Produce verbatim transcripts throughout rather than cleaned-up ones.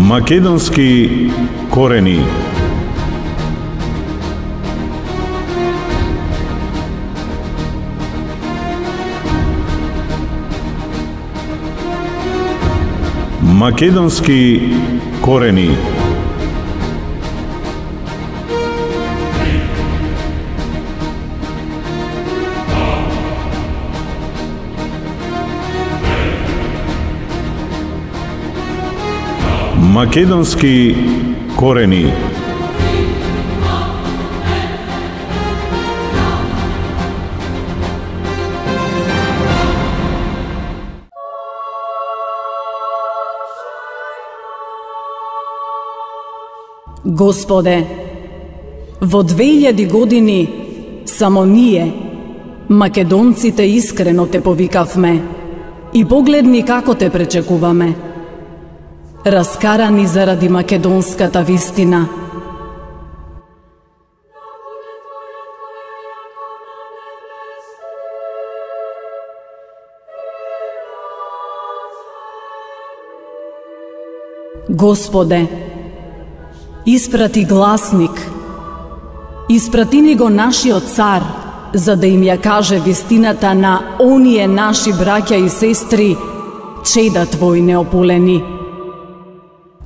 Македонски корени. Македонски корени. Македонски корени. Господе, во две илјади години само ние, македонците, искрено те повикавме и погледни како те пречекуваме. Раскарани заради македонската вистина. Господе, испрати гласник, испрати ни го нашиот цар, за да им ја каже вистината на оние наши браќа и сестри, чеда Твои неополени.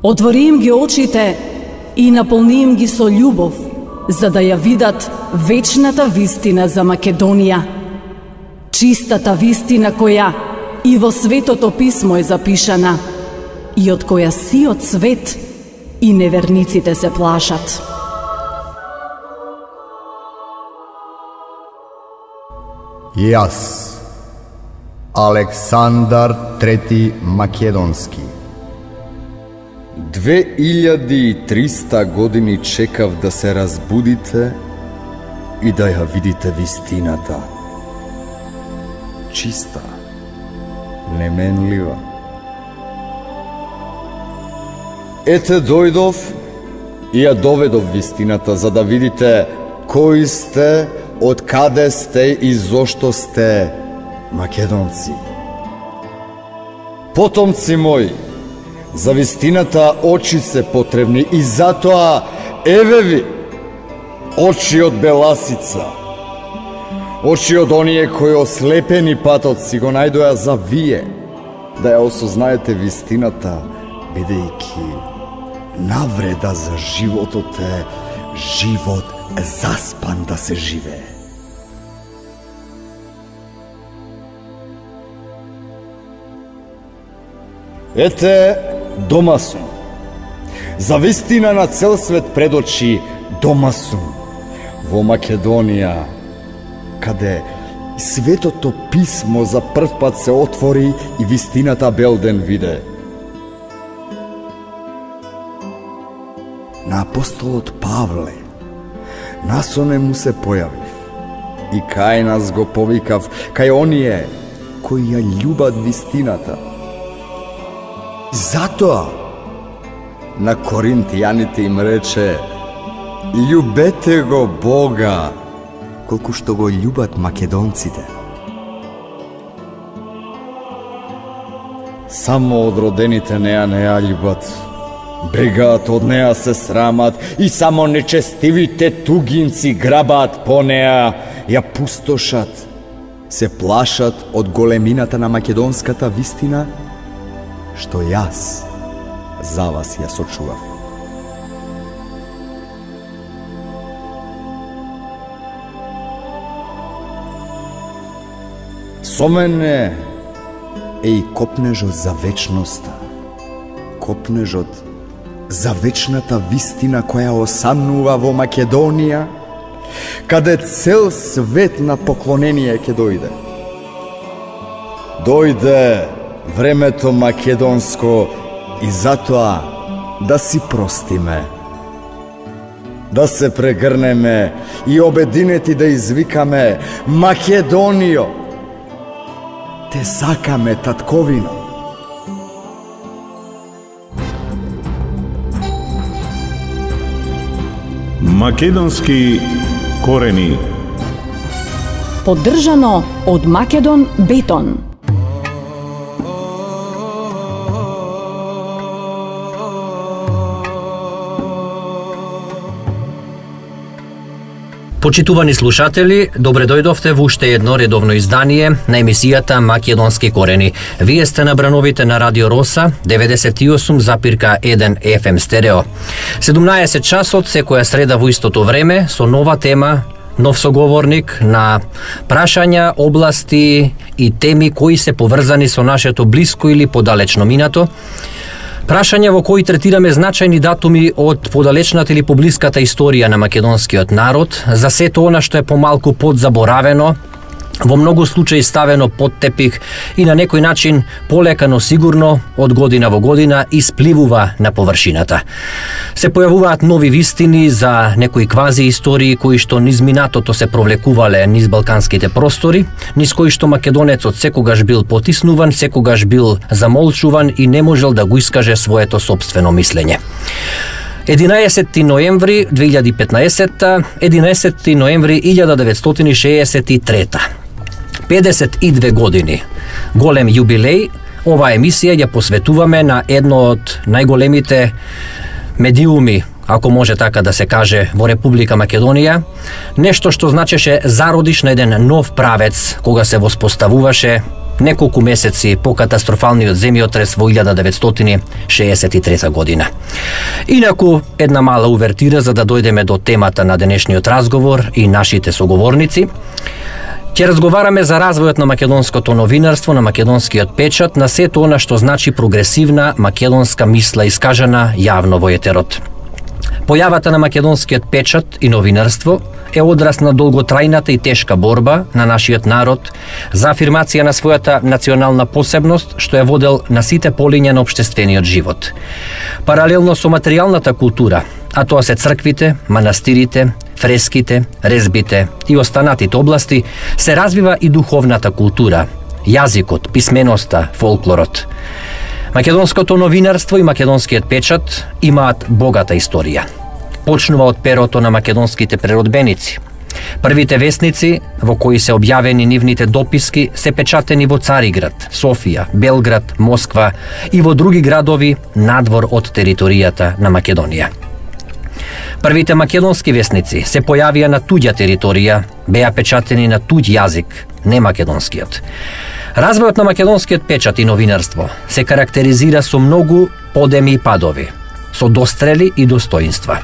Отвори им ги очите и наполни им ги со љубов, за да ја видат вечната вистина за Македонија. Чистата вистина која и во Светото Писмо е запишана и од која сиот свет и неверниците се плашат. Јас, Александар трети Македонски, Две илјади и триста години чекав да се разбудите и да ја видите вистината. Чиста, неменлива. Ете дојдов и ја доведов вистината, за да видите кои сте, од каде сте и зошто сте македонци. Потомци мои, за вистината очи се потребни и затоа еве ви очи од беласица. Очи од оние кои ослепени патот си го најдоа за вие, да ја осознаете вистината, бидејќи навреда за животот е живот заспан да се живее. Ете, дома сум. За вистина на цел свет пред очи дома сум, во Македонија, каде Светото Писмо за прв пат се отвори и вистината бел ден виде. На апостолот Павле насоне му се појавив и кај нас го повикав, кај оние кои ја љубат вистината. Затоа на коринтијаните им рече: љубете го Бога, колку што го љубат македонците. Само одродените неа не ја љубат, бегаат од неа, се срамат и само нечестивите тугинци грабаат по неа, ја пустошат, се плашат од големината на македонската вистина, што јас за вас ја сочував. Со мене е и копнежот за вечноста, копнежот за вечната вистина која осамнува во Македонија, каде цел свет на поклонение ќе дојде. Дојде времето македонско и затоа да си простиме, да се прегрнеме и обединети да извикаме: Македонијо, те сакаме, татковино. Македонски корени. Поддржано од Македон Бетон. Почитувани слушатели, добре дојдовте во уште едно редовно издание на емисијата Македонски корени. Вие сте на брановите на Радио Роса, деветдесет и осум запирка еден еф ем стерео. седумнаесет часот секоја среда во истото време со нова тема, нов соговорник на прашања, области и теми кои се поврзани со нашето блиско или подалечно минато. Прашања во кои третираме значајни датуми од подалечната или поблиската историја на македонскиот народ, за сето она што е помалку подзаборавено, во многу случаи ставено под тепих и на некој начин полека, но сигурно од година во година испливува на површината. Се појавуваат нови вистини за некои квази истории кои што низ минатото се провлекувале низ балканските простори, низ кои што македонецот секогаш бил потиснуван, секогаш бил замолчуван и не можел да го искаже своето сопствено мислење. единаесети ноември две илјади и петнаесетта, единаесети ноември илјада деветстотини шеесет и трета. педесет и две години. Голем јубилеј. Оваа емисија ја посветуваме на едно од најголемите медиуми, ако може така да се каже, во Република Македонија, нешто што значеше зародиш на еден нов правец кога се воспоставуваше неколку месеци по катастрофалниот земјотрес во илјада деветстотини шеесет и трета година. Инаку, една мала увертира за да дојдеме до темата на денешниот разговор и нашите соговорници. Ќе разговараме за развојот на македонското новинарство, на македонскиот печат, на сето она што значи прогресивна македонска мисла искажана јавно во етерот. Појавата на македонскиот печат и новинарство е одраз на долготрајната и тешка борба на нашиот народ за афирмација на својата национална посебност, што е водел на сите полиња на општествениот живот. Паралелно со материјалната култура, а тоа се црквите, манастирите, фреските, резбите и останатите области, се развива и духовната култура, јазикот, писменоста, фолклорот. Македонското новинарство и македонскиот печат имаат богата историја. Почнува од перото на македонските преродбеници. Првите весници, во кои се објавени нивните дописки, се печатени во Цариград, Софија, Белград, Москва и во други градови надвор од територијата на Македонија. Првите македонски весници се појавија на туѓа територија, беа печатени на туѓ јазик, не македонскиот. Развојот на македонскиот печат и новинарство се карактеризира со многу подеми и падови, со дострели и достоинства.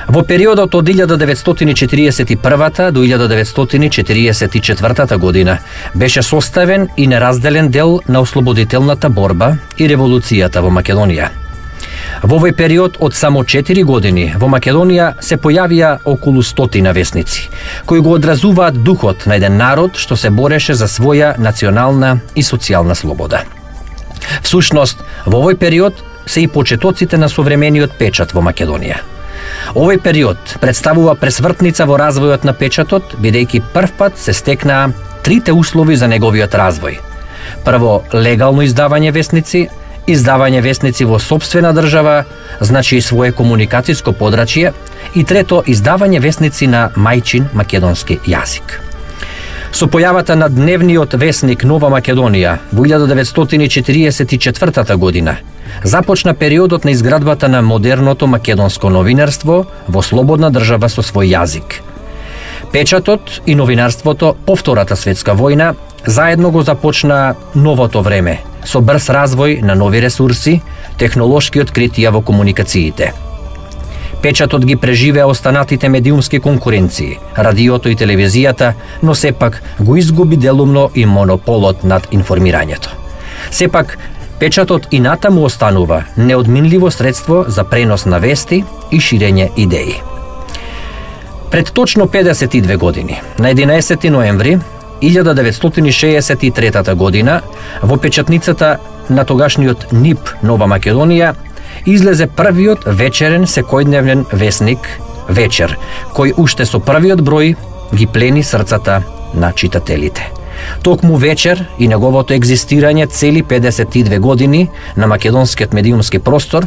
Во периодот од илјада деветстотини четириесет и прва до илјада деветстотини четириесет и четвртата година беше составен и неразделен дел на ослободителната борба и револуцијата во Македонија. Во овој период од само четири години во Македонија се појавија околу стотина весници, кои го одразуваат духот на еден народ што се бореше за своја национална и социјална слобода. Всушност, во овој период се и почетоците на современиот печат во Македонија. Овој период представува пресвртница во развојот на печатот, бидејќи првпат се стекнаа трите услови за неговиот развој. Прво, легално издавање весници, издавање весници во сопствена држава, значи и свое комуникацијско подрачје, и трето, издавање весници на мајчин македонски јазик. Со појавата на дневниот весник Нова Македонија во илјада деветстотини четириесет и четвртата година започна периодот на изградбата на модерното македонско новинарство во слободна држава со свој јазик. Печатот и новинарството по Втората светска војна заедно го започна новото време, со брз развој на нови ресурси, технолошки откритија во комуникациите. Печатот ги преживеа останатите медиумски конкуренции, радиото и телевизијата, но сепак го изгуби делумно и монополот над информирањето. Сепак, печатот и натаму останува неодминливо средство за пренос на вести и ширење идеи. Пред точно педесет и две години, на единаесети ноември илјада деветстотини шеесет и трета година, во печатницата на тогашниот НИП Нова Македонија излезе првиот вечерен секојдневен весник Вечер, кој уште со првиот број ги плени срцата на читателите. Токму Вечер и неговото екзистирање цели педесет и две години на македонскиот медиумски простор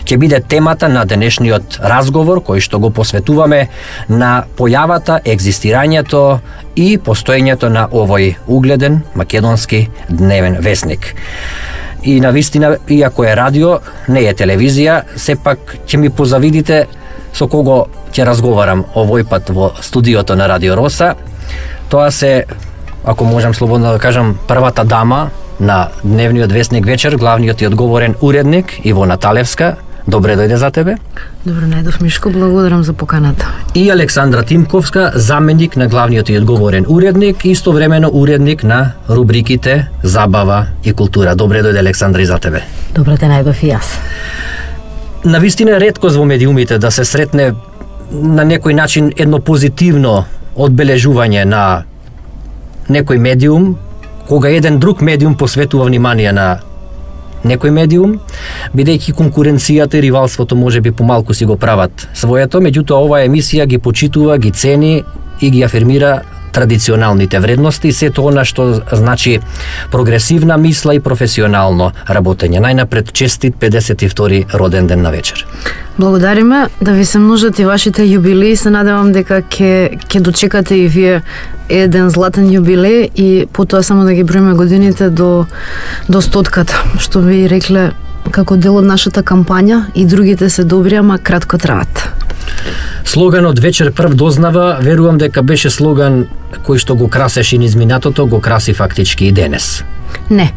ќе биде темата на денешниот разговор, кој што го посветуваме на појавата, екзистирањето и постоењето на овој угледен македонски дневен весник. И на вистина, иако е радио, не е телевизија, сепак ќе ми позавидите со кого ќе разговарам овој пат во студиото на Радио Роса. Тоа се, ако можам слободно да кажам, првата дама на дневниот весник вечер, главниот и одговорен уредник Ивона Талевска. Добре дојде за тебе. Добро најдов, Мишко, благодарам за поканата. И Александра Тимковска, заменик на главниот и одговорен уредник, истовремено уредник на рубриките Забава и култура. Добре дојде, Александра, и за тебе. Добро те најдов и јас. Навистина реткост во медиумите да се сретне на некој начин едно позитивно одбележување на некој медиум, кога еден друг медиум посветува внимание на некој медиум, бидејќи конкуренцијата и ривалството може би помалку си го прават своето, меѓутоа оваа емисија ги почитува, ги цени и ги афирмира традиционалните вредности, сето она што значи прогресивна мисла и професионално работење. Најнапред честит педесет и втори роден ден на вечер. Благодариме, да ви се множат и вашите јубилеи, се надевам дека ќе ќе дочекате и вие еден златен јубилеј и потоа само да ги броиме годините до до стотката, што ви рекле како дел од нашата кампања и другите се добри, ама кратко траат. Слоганот вечер прв дознава, верувам дека беше слоган кој што го красеше низ минатото, го краси фактички и денес. Не.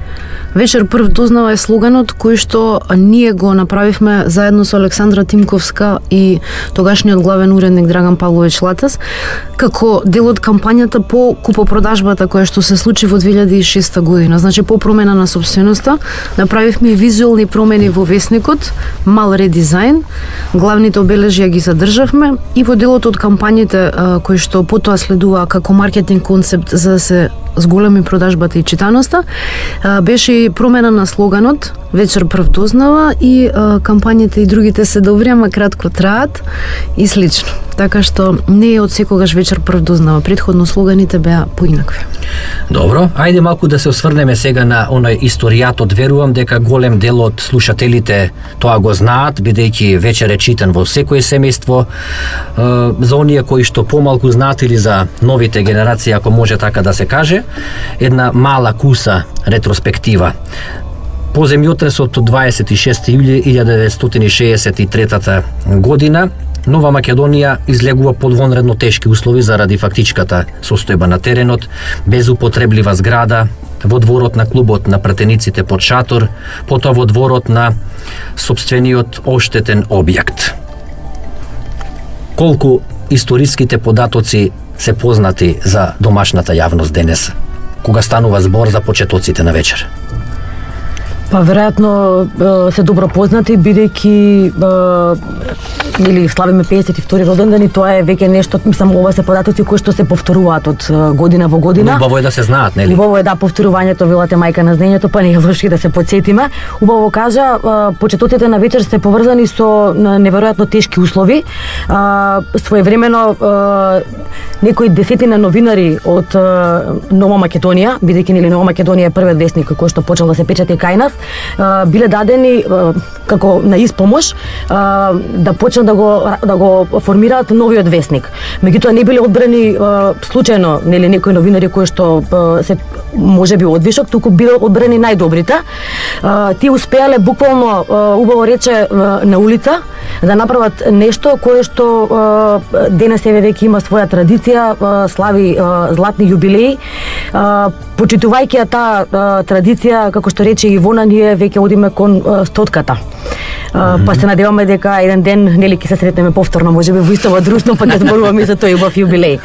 Вечер прв дознава е слоганот кој што ние го направивме заедно со Александра Тимковска и тогашниот главен уредник Драган Павлович Латас, како дел од кампањата по купопродажбата која што се случи во две илјади и шеста година. Значи, по промена на собственоста, направивме и визуелни промени во весникот, мал редизајн, главните обележја ги задржавме и во делот од кампањите кои што потоа следува како маркетинг концепт за да се зголеми продажбата и читаноста, беше и промена на слоганот вечер прв дознава и а, кампањите и другите се добри, ама кратко траат и слично. Така што не е од секогаш вечер прв дознава. Претходно слоганите беа поинакви. Добро, ајде малку да се осврнеме сега на оној историјатот. Верувам дека голем дел од слушателите тоа го знаат, бидејќи вечер е читан во секој семејство. За оние кои што помалку знаат или за новите генерации, ако може така да се каже, една мала куса ретроспектива. По земјотресот од дваесет и шести јули илјада деветстотини шеесет и трета година, Нова Македонија излегува под вонредно тешки услови заради фактичката состојба на теренот, безупотреблива зграда, во дворот на клубот на пратениците под шатор, потоа во дворот на сопствениот оштетен објект. Колку историските податоци се познати за домашната јавност денес, кога станува збор за почетоците на вечер? Па веројатно се добро познати, бидејќи или славиме педесет и втори роден ден и тоа е веќе нешто, мислам, ова се податоци кои што се повторуваат од година во година. Убаво е да се знаат, нели? Убаво е да повторувањето, велате мајка на знаењето, па не е лошо да се потсетиме. Убаво кажа, почетоците на вечер се поврзани со неверојатно тешки услови. Своевремено некои десетина новинари од Нова Македонија, бидејќи нели Нова Македонија е првиот весник кој што почел да се печати кај нас, биле дадени како на испомош да почнат да го да го формираат новиот весник. Меѓутоа не биле одбрани случајно нели некои новинари кои што се можеби одвишок, туку биле одбрани најдобрите. Тие успеале буквално, убаво рече, на улица да направат нешто кое што денес еве веќе има своја традиција, слави златни јубилеи. Почитувајќи таа традиција, како што рече Ивона, ние веќе одиме кон стотката. Uh, па се надеваме дека еден ден нели ќе се сретнеме повторно, можеби во исто друштво, па ќе зборуваме за тој убав јубилеј.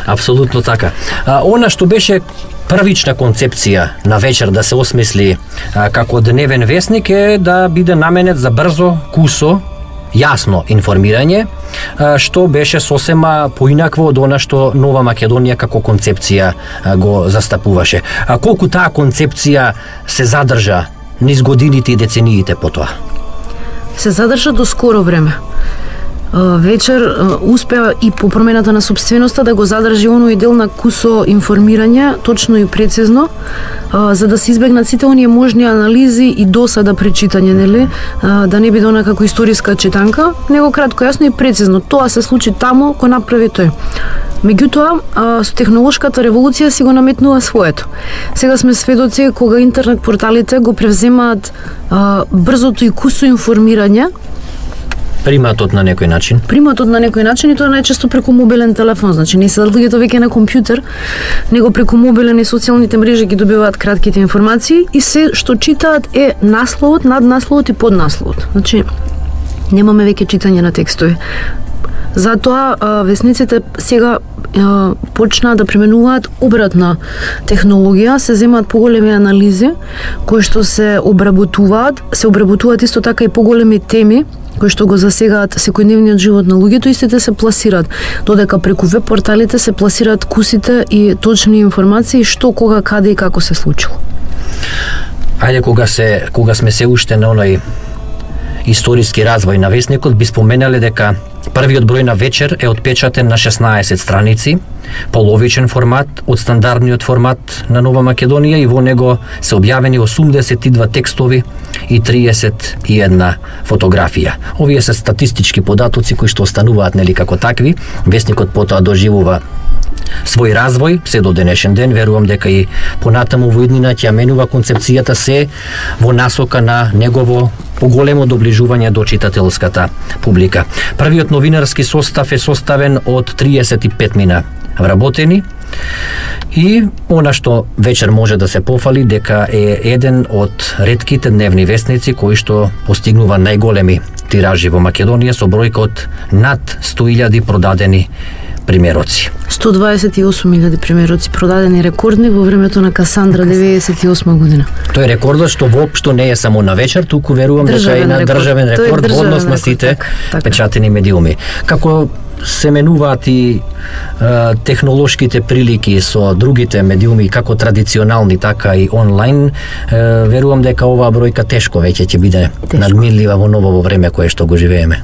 Апсолутно така. А, она што беше првична концепција на вечер да се осмисли а, како дневен весник е да биде наменет за брзо, кусо, јасно информирање, а, што беше сосема поинакво од она што Нова Македонија како концепција а, го застапуваше. А колку таа концепција се задржа низ годините и децениите потоа? Се задржа до скоро време. Вечер успеа и по промената на собственоста да го задржи оној дел на кусо информирање, точно и прецизно, за да се избегнат сите оние можни анализи и досада пречитање, нели, да не биде она како историска читанка, него кратко, јасно и прецизно. Тоа се случи таму, кој направи тој. Меѓутоа, со технолошката револуција си го наметнува своето. Сега сме сведоци кога интернет порталите го превземаат брзото и кусо информирање Приматот на некој начин. Приматот на некој начин и тоа најчесто преку мобилен телефон, значи не се луѓето веќе на компјутер, него преку мобилен и социјалните мрежи ги добиваат кратките информации и се што читаат е насловот, наднасловот и поднасловот. Значи немаме веќе читање на текстови. Затоа весниците сега почнаа да применуваат обратна технологија, се земаат поголеми анализи кои што се обработуваат, се обработуваат исто така и поголеми теми кои што го засегаат секојдневниот живот на луѓето, истите се пласираат, додека преку веб порталите се пласираат кусите и точни информации што, кога, каде и како се случило. Ајде, кога се кога сме се уште на оној историски развој на весникот, би споменале дека првиот број на вечер е отпечатен на шеснаесет страници, половичен формат од стандардниот формат на Нова Македонија и во него се објавени осумдесет и два текстови и триесет и една фотографија. Овие се статистички податоци кои што остануваат нели како такви. Весникот потоа доживува свој развој се до денешен ден. Верувам дека и понатаму во иднина ќе менува концепцијата се во насока на негово поголемо доближување до читателската публика. Првиот новинарски состав е составен од триесет и пет мина вработени и она што вечер може да се пофали дека е еден од ретките дневни весници кои што постигнува најголеми тиражи во Македонија со бројка од над сто илјади продадени примероци. сто дваесет и осум илјади примероци продадени, рекордни во времето на Касандра деветдесет и осма година. Тој рекордот што воопшто не е само на вечер, туку верувам дека е на државен рекорд во однос на сите печатени медиуми. Како се менуваат и е, технолошките прилики со другите медиуми, како традиционални, така и онлайн, е, верувам дека оваа бројка тешко веќе ќе биде тешко надминлива во ново време кое што го живееме.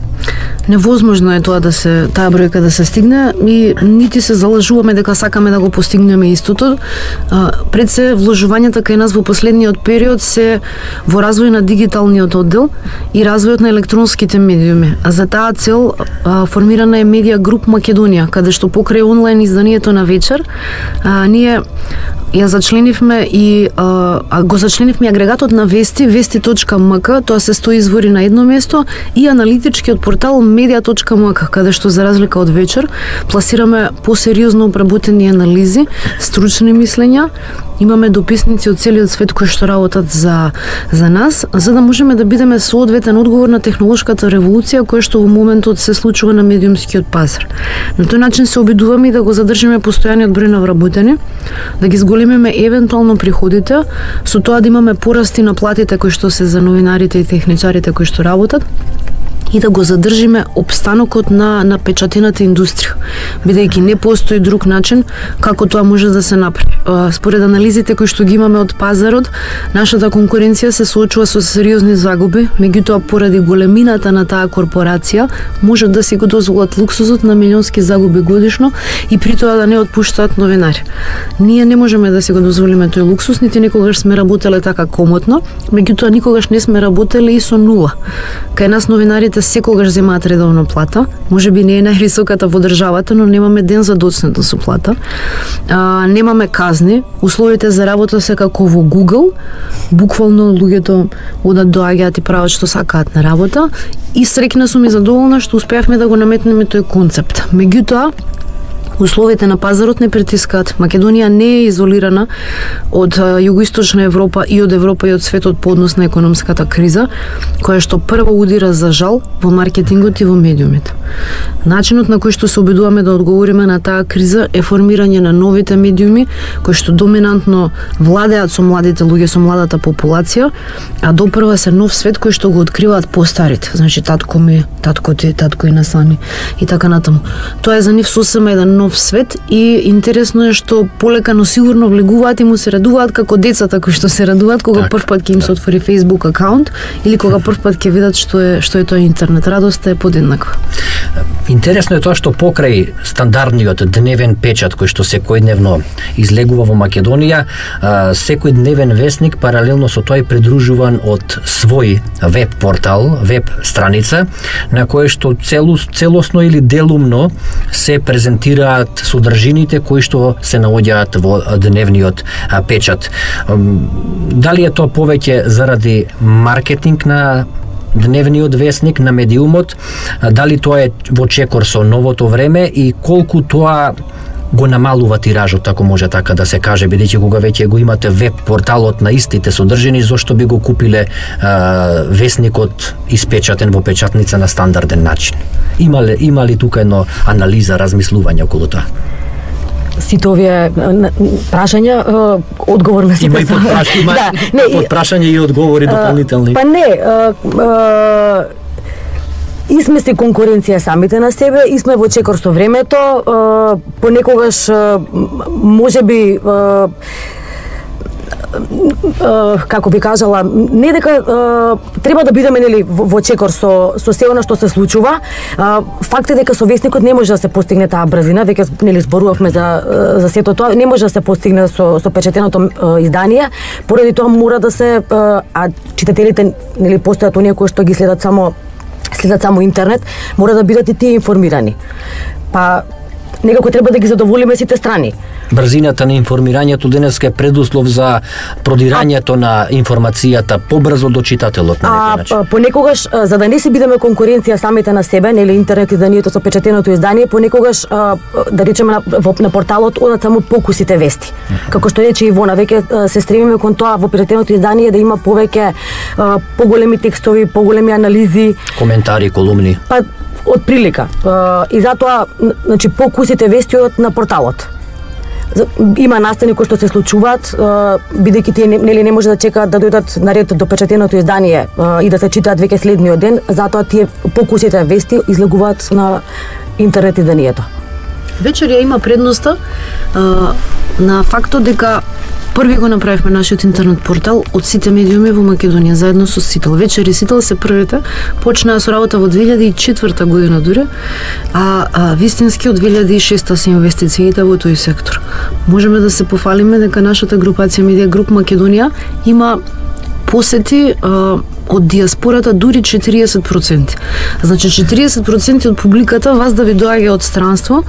Невозможно е тоа да се таа бројка да се стигне и нити се залажуваме дека сакаме да го постигнеме истото. А, пред се вложувањата кај нас во последниот период се во развој на дигиталниот оддел и развојот на електронските медиуми. А за таа цел а, формирана е Медија Груп Македонија, каде што покрај онлайн изданието на вечер, а, ние ја зачленивме и а, го зачленивме агрегатот на вести, вести точка ем ка, тоа се стои извори на едно место, и аналитичкиот портал медија точка ем ка, каде што за разлика од вечер пласираме посериозно обработени анализи, стручни мислења. Имаме дописници од целиот свет кои што работат за за нас, за да можеме да бидеме соодветен одговор на технолошката револуција која што во моментот се случува на медиумскиот пазар. На тој начин се обидуваме и да го задржиме постојаниот број на вработени, да ги зголемиме евентуално приходите, со тоа да имаме порасти на платите кои што се за новинарите и техничарите кои што работат, и да го задржиме опстанокот на на печатената индустрија, бидејќи не постои друг начин како тоа може да се направи. Според анализите кои што ги имаме од пазарот, нашата конкуренција се соочува со сериозни загуби, меѓутоа поради големината на таа корпорација можат да си го дозволат луксузот на милионски загуби годишно и при тоа да не отпуштаат новинари. Ние не можеме да си го дозволиме тој луксус, нити никогаш сме работеле така комотно, меѓутоа никогаш не сме работеле и со нула. Кај нас новинарите секогаш земаат редовна плата, можеби не е највисоката во државата, но немаме ден за доцнето со плата. А, немаме казни, условите за работа се како во Google, буквално луѓето одат, доаѓаат и прават што сакаат на работа, и среќна сум и задоволна што успеавме да го наметнеме тој концепт. Меѓутоа, условите на пазарот не притискаат. Македонија не е изолирана од југоисточна Европа и од Европа и од светот по однос на економската криза, која што прво удира за жал во маркетингот и во медиумите. Начинот на кој што се обидуваме да одговориме на таа криза е формирање на новите медиуми, кои што доминантно владеат со младите луѓе, со младата популација, а допрва се нов свет кој што го откриваат постарите. Значи, татко ми, татко ти, татко и насами и така натаму. Тоа е за нив сосема еден нов свет и интересно е што полека но сигурно влегуваат и му се радуваат како децата кои што се радуваат кога прв пат ќе им се отвори Facebook акаунт или кога прв пат ќе видат што е што е тоа интернет. Радоста е подеднаква. Интересно е тоа што покрај стандардниот дневен печат кој што секојдневно излегува во Македонија, секој дневен весник паралелно со тоа е придружуван од свој веб портал, веб страница на кој што целу, целосно или делумно се презентираат содржините кои што се наоѓаат во дневниот печат. Дали е тоа повеќе заради маркетинг на дневниот весник на медиумот, дали тоа е во чекор со новото време и колку тоа го намалува тиражот, ако може така да се каже, бидејќи кога веќе го имате веб порталот на истите содржини, зошто би го купиле а, весникот испечатен во печатница на стандарден начин? Има ли, има ли тука едно анализа, размислување околу тоа? Сите овие прашања, одговор на сите. Има и подпрашање, има да, не, подпрашање и одговори дополнителни. Па не, а, а, и сме се конкуренција самите на себе, и сме во чекор со времето, а, понекогаш може би а, Uh, како би кажала, не дека uh, треба да бидеме нели во чекор со со се она што се случува. Uh, факт е дека со весникот не може да се постигне таа брзина, веќе нели зборувавме за за сето тоа, не може да се постигне со со печатеното uh, издание, поради тоа мора да се uh, а читателите нели постојат оние кои што ги следат само следат само интернет, мора да бидат и тие информирани. Па некако треба да ги задоволиме сите страни. Брзината на информирањето денеска е предуслов за продирањето на информацијата побрзо до читателот на некој начин. А понекогаш, за да не се бидеме конкуренција самите на себе, нели интернет изданието со печатеното издание, понекогаш да речеме на, на порталот одат само покусите вести. Како што рече Ивона, веќе се стремиме кон тоа во печатеното издание да има повеќе поголеми текстови, поголеми анализи, коментари, колумни. Па од прилика. И затоа, значи, покусите вести одат на порталот. Има настани кои што се случуваат, бидејќи тие нели не може да чекаат да дојдат на ред до печатеното издание и да се читаат веќе следниот ден, затоа тие покусите вести излегуваат на интернет изданието. Вечер ја има предноста а, на фактот дека први го направивме нашиот интернет портал од сите медиуми во Македонија заедно со Сител. Вечер и Сител се првите, почнаа со работа во две илјади и четврта година дури, а, а вистински од две илјади и шеста се инвестициите во тој сектор. Можеме да се пофалиме дека нашата групација Медија Груп Македонија има посети а, од диаспората дури четириесет проценти. Значи четириесет проценти од публиката вас да ви доаѓа од странство,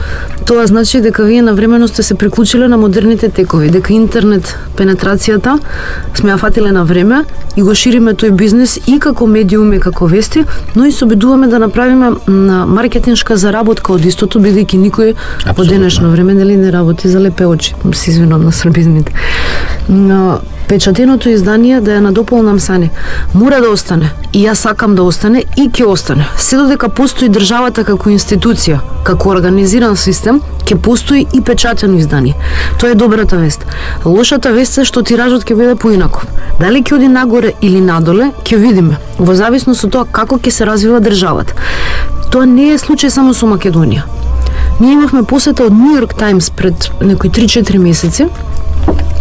тоа значи дека вие навремено сте се приклучиле на модерните текови, дека интернет пенетрацијата сме ја фатиле на време и го шириме тој бизнес и како медиуми, како вести, но и се обидуваме да направиме на маркетиншка заработка од истото, бидејќи никој во денешно време нели не работи за лепе очи, се извинувам на србизмите. Но печатеното издание, да ја надополнам Сани, мора да остане. И јас сакам да остане и ќе остане. Се додека постои државата како институција, како организиран систем, ќе постои и печатено издание. Тоа е добрата вест. Лошата вест е што тиражот ќе биде поинаков. Дали ќе оди нагоре или надоле, ќе видиме, во зависност од тоа како ќе се развива државата. Тоа не е случај само со Македонија. Ние имавме посета од Нью Йорк Таймс пред некои три-четири месеци,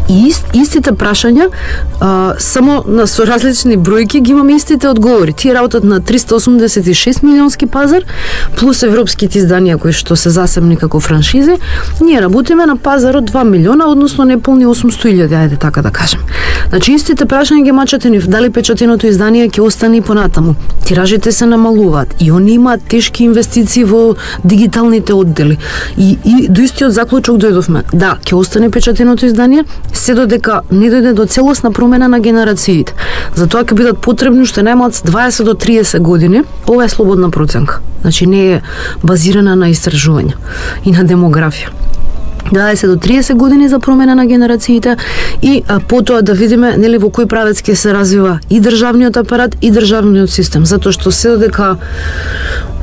и ист, истите прашања, а, само на со различни бројки ги имаме истите одговори. Тие работат на триста осумдесет и шест милионски пазар, плюс европските изданија кои што се засебни како франшизи. Ние работиме на пазар од два милиона, односно неполни осумсто илјади, ајде така да кажем. Значи истите прашања ги мачате ни дали печатеното издание ќе остане и понатаму. Тиражите се намалуваат и они имаат тешки инвестиции во дигиталните оддели. И, и до истиот заклучок дојдовме. Да, ќе остане печатеното издание, се додека не дојде до целосна промена на генерациите. Затоа ќе бидат потребни уште најмалку дваесет до триесет години. Ова е слободна проценка. Значи не е базирана на истражувања и на демографија. дваесет до триесет години за промена на генерациите и а, потоа да видиме нели во кој правец ќе се развива и државниот апарат и државниот систем, затоа што се додека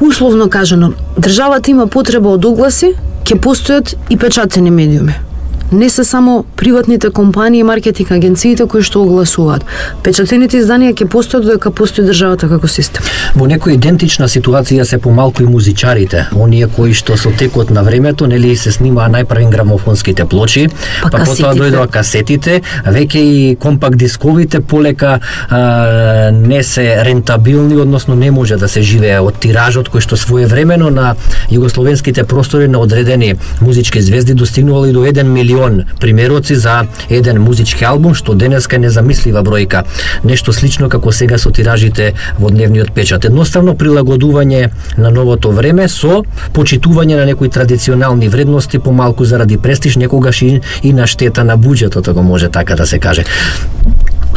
условно кажано државата има потреба од огласи, ќе постојат и печатени медиуми. Не се само приватните компании и маркетинг агенциите кои што огласуваат. Печатените изданија ќе постојат додека постои државата како систем. Во некоја идентична ситуација се помалку и музичарите, оние кои што со текот на времето нели се снимаа најпрви грамофонските плочи, па, па потоа дојдоа касетите, веќе и компакт дисковите полека а, не се рентабилни, односно не може да се живее од тиражот кој што своевремено на југословенските простори на одредени музички звезди достигнувал и до еден милион примероци за еден музички албум, што денеска е незамислива бројка. Нешто слично како сега со тиражите во дневниот печат. Едноставно прилагодување на новото време со почитување на некои традиционални вредности, помалку заради престиж, некогаш и, и на штета на буџетот, ако може така да се каже.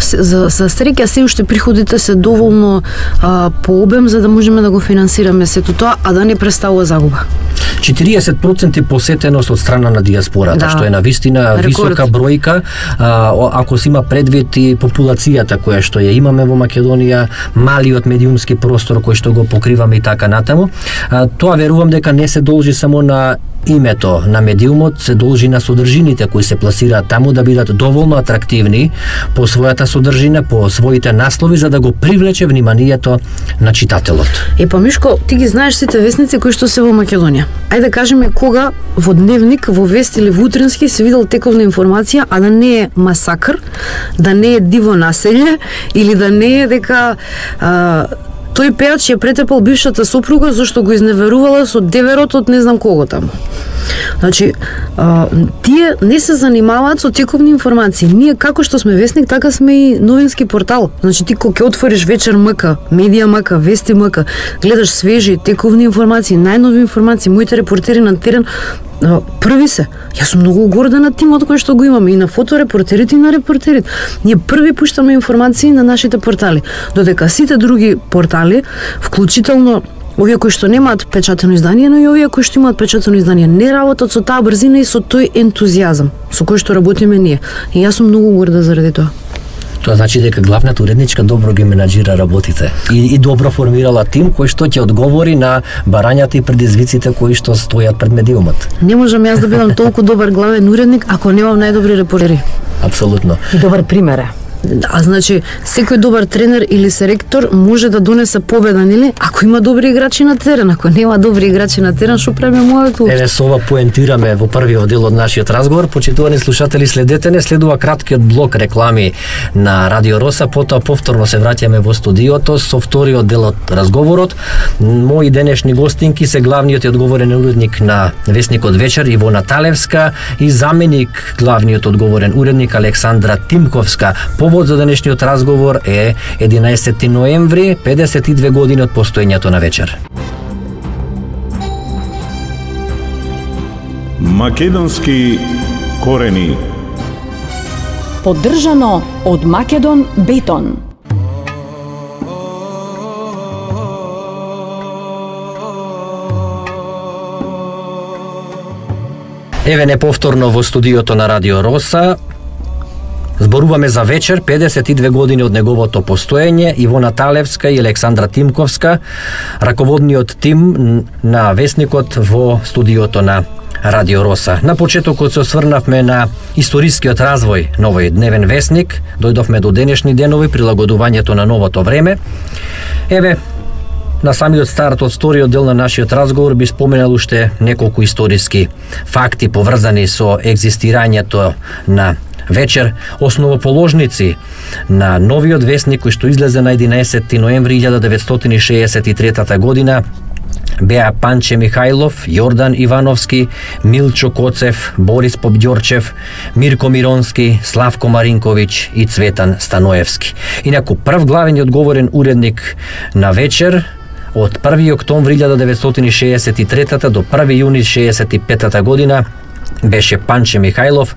за, за среќа се уште приходите се доволно а, по обем за да можеме да го финансираме сето тоа, а да не представува загуба. четириесет проценти посетеност од страна на диаспората, да, што е навистина висока бројка, а, ако се има предвид и популацијата која што ја имаме во Македонија, малиот медиумски простор кој што го покриваме и така натаму. А, тоа верувам дека не се должи само на името на медиумот, се должи на содржините кои се пласираат таму да бидат доволно атрактивни по својата содржина, по своите наслови, за да го привлече вниманието на читателот. Е, па Мишко, ти ги знаеш сите вестници кои што се во Македонија. Ајде да кажеме кога во Дневник, во Вест или во Утрински се видел тековна информација, а да не е масакр, да не е диво населје или да не е дека а, тој пејач ја претепал бившата сопруга зашто го изневерувала со деверот од не знам кого таму. Значи, а, тие не се занимаваат со тековни информации. Ние како што сме Вестник, така сме и новински портал. Значи ти кога ќе отвориш Вечер МК, Медија МК, Вести МК, гледаш свежи тековни информации, најнови информации, моите репортери на терен први се. Јас сум многу горда на тимот кој што го имаме и на фоторепортерите и на репортерите. Ние први пуштаме информации на нашите портали, додека сите други портали, вклучително овие кои што немаат печатено издание, но и овие кои што имаат печатено издание, не работат со таа брзина и со тој ентузијазам со кој што работиме ние. И јас сум многу горда заради тоа. Тоа значи дека главната уредничка добро ги менаџира работите и, и добро формирала тим кој што ќе одговори на барањата и предизвиците кои што стојат пред медиумот. Не можам јас да бидам толку добар главен уредник ако немам најдобри репортери. Апсолутно. И добар пример е. А значи, секој добар тренер или селектор може да донесе победа, нели? Ако има добри играчи на терен, ако нема добри играчи на терен, што правиме моето? Еве со ова поентираме во првиот дел од нашиот разговор. Почитувани слушатели, следете не, следува краткиот блок реклами на Радио Роса, потоа повторно се враќаме во студиото со вториот дел од разговорот. Мои денешни гостинки се главниот и одговорен уредник на Вестникот Вечер Ивона Талевска и заменик главниот одговорен уредник Александра Тимковска. Повод за денешниот разговор е единаесети ноември, педесет и две години од постоењето на Вечер. Македонски корени. Поддржано од Македон Бетон. Еве не повторно во студиото на Радио Роса. Зборуваме за Вечер, педесет и две години од неговото постоење, Ивона Талевска и Александра Тимковска, раководниот тим на Вестникот во студиото на Радио Роса. На почетокот се осврнавме на историскиот развој на овој дневен вестник, дојдовме до денешни денови, прилагодувањето на новото време. Еве, на самиот старт од вториот дел на нашиот разговор би споменал уште неколку историски факти поврзани со екзистирањето на Вечер. Основоположници на новиот вестник кој што излезе на единаесети ноември илјада деветстотини шеесет и трета година беа Панче Михајлов, Јордан Ивановски, Милчо Коцев, Борис Попѓорчев, Мирко Миронски, Славко Маринковиќ и Цветан Станоевски. Инаку прв главен и одговорен уредник на Вечер од први октомври илјада деветстотини шеесет и трета до први јуни шеесет и пета година беше Панче Михајлов,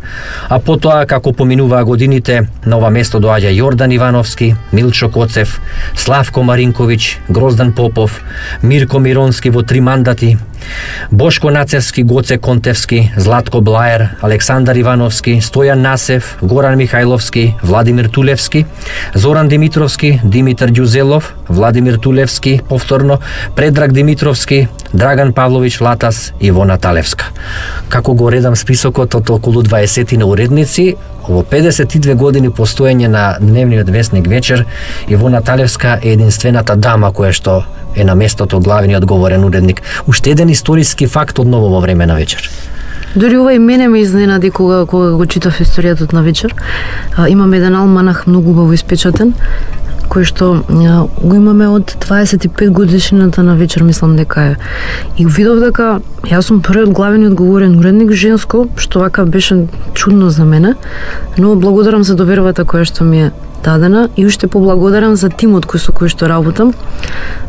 а потоа како поминуваа годините на ова место доаѓа Јордан Ивановски, Милчо Коцев, Славко Маринковиќ, Гроздан Попов, Мирко Миронски во три мандати, Бошко Нацевски, Гоце Контевски, Златко Блаер, Александар Ивановски, Стојан Насев, Горан Михајловски, Владимир Тулевски, Зоран Димитровски, Димитар Ѓузелов, Владимир Тулевски, повторно, Предраг Димитровски, Драган Павловиќ Латас и Ивона Талевска. Како го редам списокот од околу дваесет на уредници, во педесет и две години постоење на дневниот вестник Вечер, Ивона Талевска е единствената дама која што е на местото главен и одговорен уредник. Уште еден историски факт од ново во време на Вечер. Дури ова и мене ме изненади кога, кога го читав историјата на Вечер. А, имам еден алманах многу убаво испечатен, кој што а, го имаме од дваесет и пет годишнината на Вечер, мислам дека е. И видов дека јас сум првиот главен и одговорен уредник женско, што вака беше чудно за мене, но благодарам за довербата која што ми е дадена и уште поблагодарам за тимот кој со кој што работам,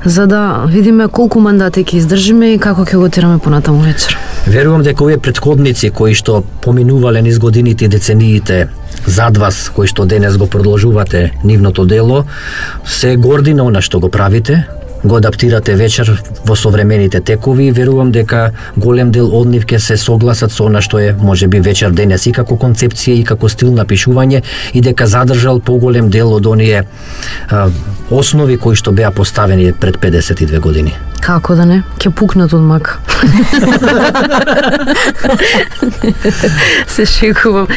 за да видиме колку мандати ќе издржиме и како ќе го тераме понатаму Вечер. Верувам дека овие претходници кои што поминувале низ годините и децениите зад вас, кои што денес го продолжувате нивното дело, се горди на она што го правите, го адаптирате вечер во современите текови и верувам дека голем дел од нив ќе се согласат со она што е можеби вечер денес и како концепција и како стил на пишување и дека задржал поголем дел од оние а, основи кои што беа поставени пред педесет и две години. Како да не? Ќе пукнат од мак. Се шегувам.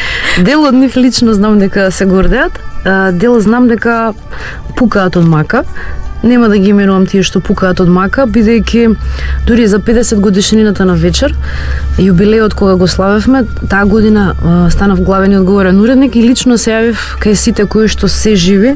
Дел од нив лично знам дека се гордеат, дел знам дека пукаат од мака. Нема да ги именувам тие што пукаат од мака, бидејќи дури за педесет годишнината на вечер, јубилеот кога го славевме, таа година а, станав главен и одговорен уредник и лично се јавив кај сите кои што се живи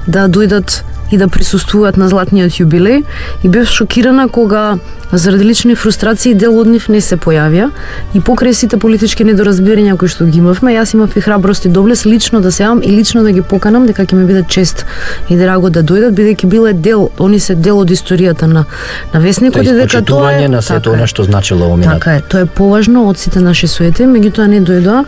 да дојдат и да присуствуваат на златниот јубилеј и бев шокирана кога заради лични фрустрации дел од нив не се појавија и покрај сите политички недоразбирања кои што ги имавме, јас имав и храброст и доблес лично да се јавам и лично да ги поканам дека ќе ми биде чест и драго да дојдат, бидејќи биле дел, они се дел од историјата на на весникот и дека тоа е на сето она што значило во минатото. Така е, тоа е поважно од сите наши суети, меѓутоа не дојдоа.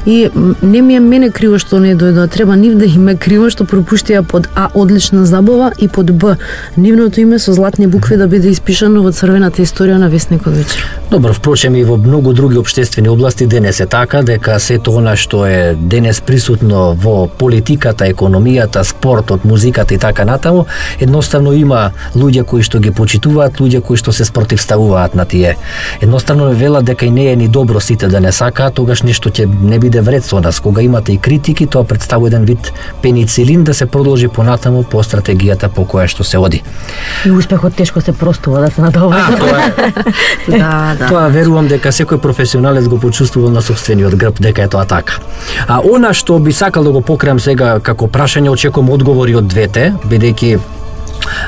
И не ми е мене криво што не дојдоа, треба нив да им е криво што пропуштија под А одлична забава и под Б нивното име со златни букви да биде испишано во црвената историја на весникот вечер. Добро, впрочем и во многу други општествени области денес е така дека сето она што е денес присутно во политиката, економијата, спортот, музиката и така натаму, едноставно има луѓе кои што ги почитуваат, луѓе кои што се спротивставуваат на тие. Едноставно велат дека и не е ни добро сите да не сакаат, тогаш нешто ќе не биде вред со нас. Кога имате и критики, тоа представува еден вид пеницилин да се продолжи понатаму по стратегијата по која што се оди. И успехот тешко се простува да се надоваѓа. А, тоа е. Да, да. Тоа верувам дека секој професионалец го почувствувал на сопствениот грб дека е тоа така. А она што би сакал да го покриам сега како прашање, очекувам одговори од двете, бидејќи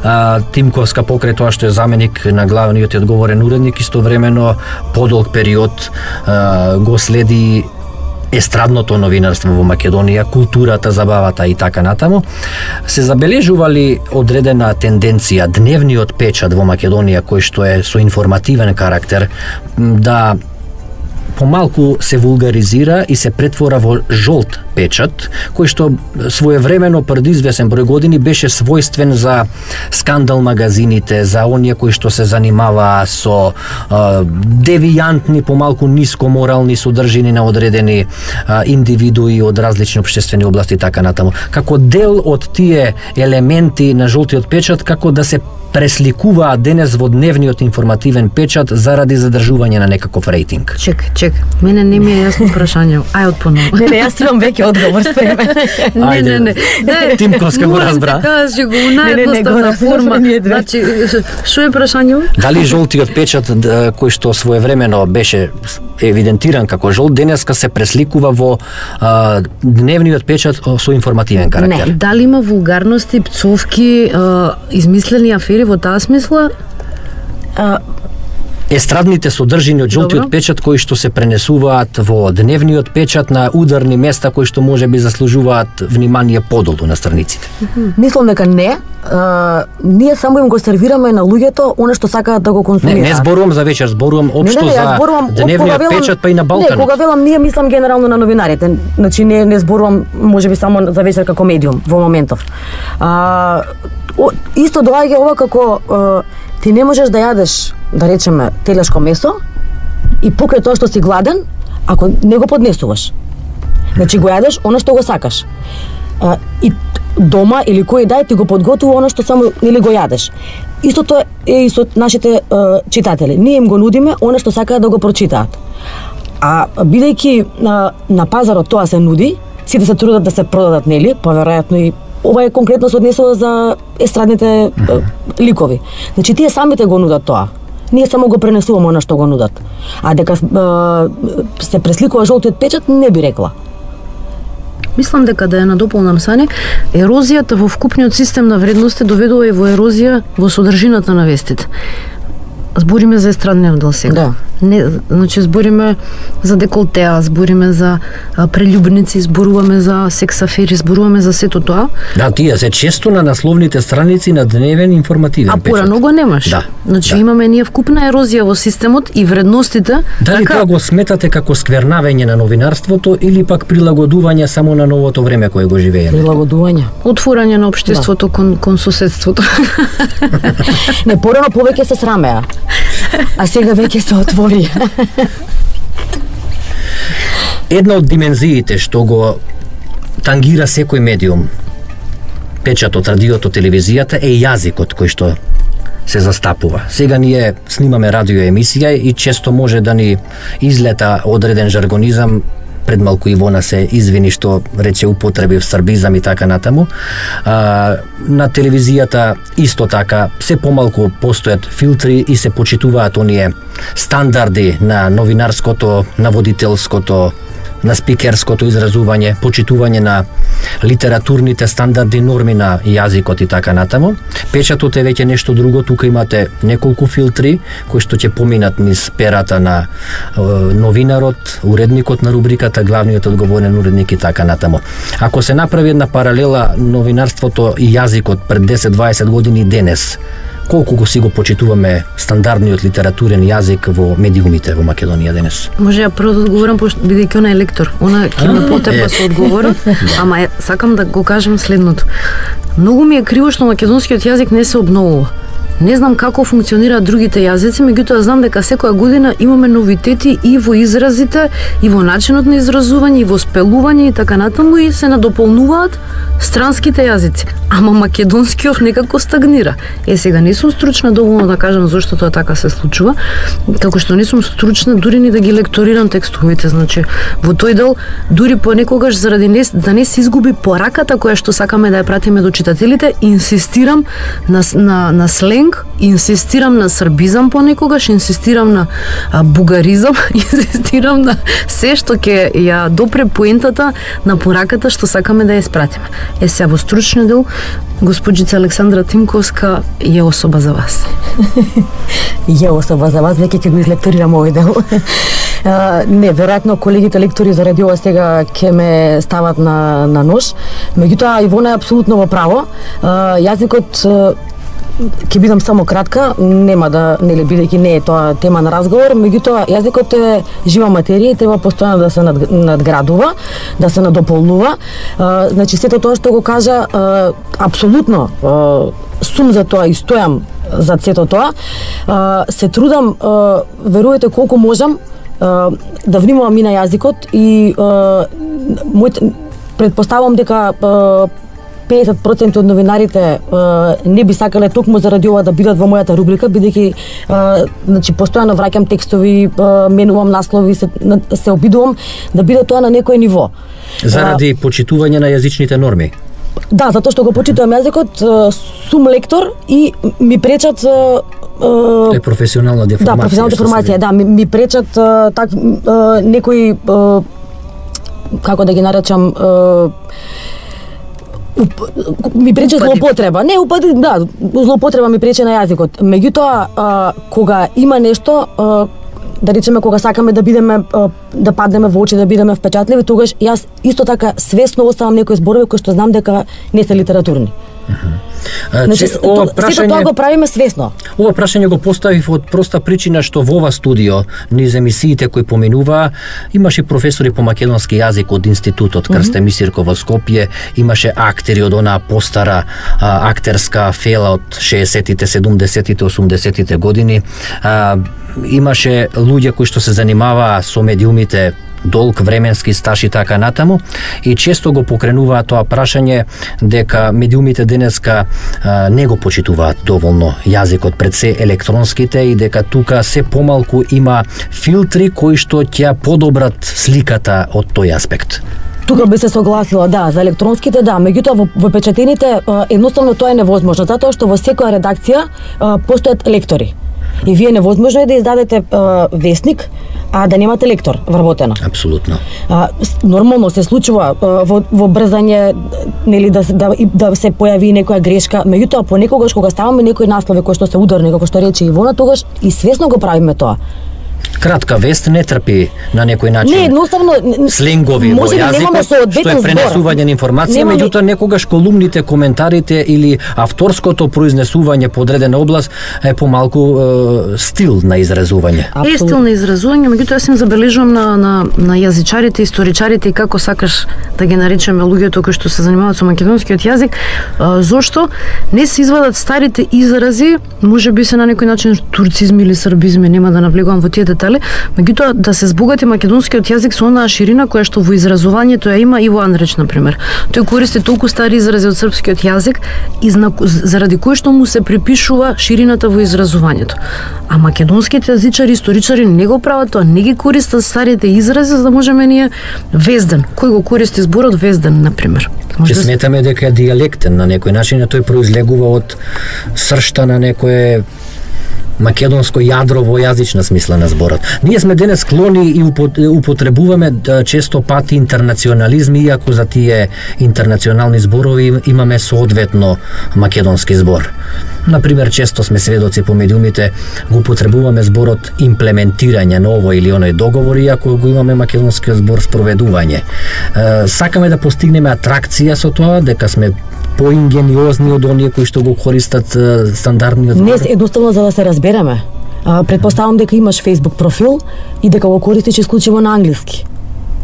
А, Тимковска покрај тоа што е заменик на главниот и одговорен уредник, истовремено подолг период а, го следи естрадното новинарство во Македонија, културата, забавата и така натаму. Се забележували одредена тенденција дневниот печат во Македонија, кој што е со информативен карактер, да помалку се вулгаризира и се претвора во жолт печат, кој што своевремено пред извесен број години беше својствен за скандал магазините, за оние кои што се занимаваа со а, девијантни, помалку ниско морални содржини на одредени а, индивидуи од различни општествени области и така натаму. Како дел од тие елементи на жолтиот печат, како да се пресликуваат денес во дневниот информативен печат заради задржување на некаков рейтинг. Чек, чек, мене не ми е јасно прашање. Ај отпоново. Не, не, јас имам веќе одговор спремен. Не, не, не. не. Тимковска го разбра. Кажи го наједноставна форма. Значи, што е прашањето? Дали жолтиот печат кој што своевремено беше евидентиран како жолт, денеска се пресликува во а, дневниот печат со информативен карактер? Не, дали има вулгарности, пцовки, а, измислени афери во таа смисла? А, Естрадните содржини од жолтиот Добро. печат кои што се пренесуваат во дневниот печат на ударни места кои што можеби заслужуваат внимание подолу на страниците. мислам дека не. А, ние само им го сервираме на луѓето она што сакаат да го Не, консумираат. не зборувам за вечер, зборувам општо не, не, за зборувам, дневниот кога велам- печат па и на Не, Балканот. кога велам ние мислам генерално на новинарите. Значи не не зборувам можеби само за вечер како медиум во моментов. А, о, исто доаѓа ова како а, ти не можеш да јадеш, да речеме, телешко месо и покрај тоа што си гладен, ако не го поднесуваш. Значи го јадеш она што го сакаш. А, и дома или кој дај ти го подготвува она што само или го јадеш. Истото е и со нашите а, читатели. Ние им го нудиме она што сакаат да го прочитаат. А бидејќи на, на пазарот тоа се нуди, сите се трудат да се продадат, нели? Поверојатно и ова е конкретно се однесува за естрадните mm-hmm. ликови. Значи тие самите го нудат тоа. Ние само го пренесуваме она што го нудат. А дека е, се пресликува жолтиот печат, не би рекла. Мислам дека да ја надополнам Сани, ерозијата во вкупниот систем на вредности доведува и во ерозија во содржината на вестите. Збориме за естрадниот дел сега. Да. Не, значи збориме за деколтеа, збориме за а, прелюбници, зборуваме за секс афери, зборуваме за сето тоа. Да, тие се често на насловните страници на дневен информативен а печат. А порано го немаш. Да. Значи да. имаме ние вкупна ерозија во системот и вредностите. Дали така... тоа го сметате како сквернавење на новинарството или пак прилагодување само на новото време кое го живееме? Прилагодување. Отворање на општеството да. кон, кон соседството. Не, порано повеќе се срамеа. А сега веќе се отвори. Една од димензиите што го тангира секој медиум, печатот, радиото, телевизијата, е јазикот кој што се застапува. Сега ние снимаме радио емисија и често може да ни излета одреден жаргонизам. Пред малку Ивона се извини што рече употреби в србизам и така натаму. А, на телевизијата исто така се помалку постојат филтри и се почитуваат оние стандарди на новинарското, наводителското, на спикерското изразување, почитување на литературните стандарди, норми на јазикот и така натаму. Печатот е веќе нешто друго, тука имате неколку филтри кои што ќе поминат низ перата на е, новинарот, уредникот на рубриката, главниот одговорен уредник и така натаму. Ако се направи една паралела новинарството и јазикот пред десет-дваесет години и денес, колку го си го почитуваме стандардниот литературен јазик во медиумите во Македонија денес? Може ја прво да одговорам, пошто бидејќи она е лектор. Она ќе ме потепа со одговор, ама е, сакам да го кажам следното. Многу ми е криво што македонскиот јазик не се обновува. Не знам како функционираат другите јазици, меѓутоа знам дека секоја година имаме новитети и во изразите, и во начинот на изразување, и во спелување и така натаму, и се надополнуваат странските јазици. Ама македонскиот некако стагнира. Е, сега не сум стручна доволно да кажам зошто тоа така се случува, како што не сум стручна дури ни да ги лекторирам текстовите. Значи, во тој дел, дури понекогаш заради не, да не се изгуби пораката која што сакаме да ја пратиме до читателите, инсистирам на, на, на сленг, инсистирам на србизам понекогаш, инсистирам на а, бугаризам, инсистирам на се што ќе ја допре поентата на пораката што сакаме да ја испратиме. Е, сега во стручниот дел, госпоđица Александра Тимковска е особа за вас. Е особа за вас, веќе ќе го излекторирам овој дел. Uh, не, веројатно колегите лектори за радио сега ќе ме стават на, на нож. Меѓутоа, Ивона е апсолутно во право. Uh, јазикот uh, ќе бидам само кратка, нема да, нели, бидејќи не е тоа тема на разговор, меѓутоа јазикот е жива материја и треба постојано да се над, надградува, да се надополнува. Uh, значи, сето тоа што го кажа, uh, апсолутно uh, сум за тоа и стојам за сето тоа. Uh, се трудам, uh, верувате колку можам, uh, да внимавам и на јазикот и uh, мојот, предпоставувам дека uh, педесет проценти од новинарите е, не би сакале токму заради ова да бидат во мојата рубрика, бидејќи значи постојано враќам текстови, е, менувам наслови, се, се обидувам да биде тоа на некој ниво. Заради а, почитување на јазичните норми. Да, затоа што го почитувам јазикот, сум лектор и ми пречат е професионална деформација. Да, професионална деформација, да, ми, ми пречат так некои, како да ги наречам, ми прече злоупотреба. Не, упади, да, злоупотреба ми прече на јазикот. Меѓутоа, кога има нешто, а, да речеме, кога сакаме да бидеме, а, да паднеме во очи, да бидеме впечатливи, тогаш јас исто така свесно оставам некои зборови кои што знам дека не се литературни. А, значи, че, ова то, прашање, сето тоа го правиме свесно. Ова прашање го поставив од проста причина што во ова студио, низ емисиите кои поминуваа, имаше професори по македонски јазик од институтот Крсте Мисирко во Скопје, имаше актери од онаа постара а, актерска фела од шеесеттите, седумдесеттите, осумдесеттите години. А, имаше луѓе кои што се занимаваа со медиумите, долг временски стаж и така натаму, и често го покренуваат тоа прашање дека медиумите денеска а, не го почитуваат доволно јазикот, пред се електронските, и дека тука се помалку има филтри кои што ќе подобрат сликата од тој аспект. Тука би се согласила, да, за електронските, да, меѓутоа во, во печатените едноставно тоа е невозможно, затоа што во секоја редакција постојат лектори. И вие невозможно е да издадете а, весник, а да немате лектор вработено. Апсолутно. А, нормално се случува а, во, во брзање, нели, да, да, да се појави некоја грешка, меѓутоа понекогаш кога ставаме некои наслови кои што се ударни, како што рече Ивона, тогаш и свесно го правиме тоа. Кратка вест не трпи на некој начин. Не, едноставно сленгови во јазикот, што е пренесување на информација, немаме... меѓутоа некогаш колумните, коментарите или авторското произнесување по одредена област е помалку е, стил на изразување. Е стил на изразување, меѓутоа јас им забележувам на, на, на јазичарите, историчарите и како сакаш да ги наречеме луѓето кои што се занимаваат со македонскиот јазик, а, зошто не се извадат старите изрази, можеби се на некој начин турцизми или србизми, нема да навлегувам во тие детали, меѓутоа да се збогати македонскиот јазик со онаа ширина која што во изразувањето ја има Иво Андреч на пример. Тој користи толку стари изрази од српскиот јазик и заради кој што му се припишува ширината во изразувањето. А македонските јазичари, историчари не го прават тоа, не ги користат старите изрази за да можеме ние везден. Кој го користи зборот везден на пример? Ќе сметаме дека е дијалектен на некој начин, а тој произлегува од сршта на некое македонско јадро во јазична смисла на зборот. Ние сме денес склони и употребуваме често пати интернационализми, иако за тие интернационални зборови имаме соодветно македонски збор. Например, често сме сведоци по медиумите, го употребуваме зборот имплементирање на овој или оној договор, иако го имаме македонскиот збор спроведување. Сакаме да постигнеме атракција со тоа, дека сме поингениозни од оние кои што го користат стандардниот збор. Не, едноставно за да се разбереме. Предпоставам дека имаш Facebook профил и дека го користиш исклучиво на англиски.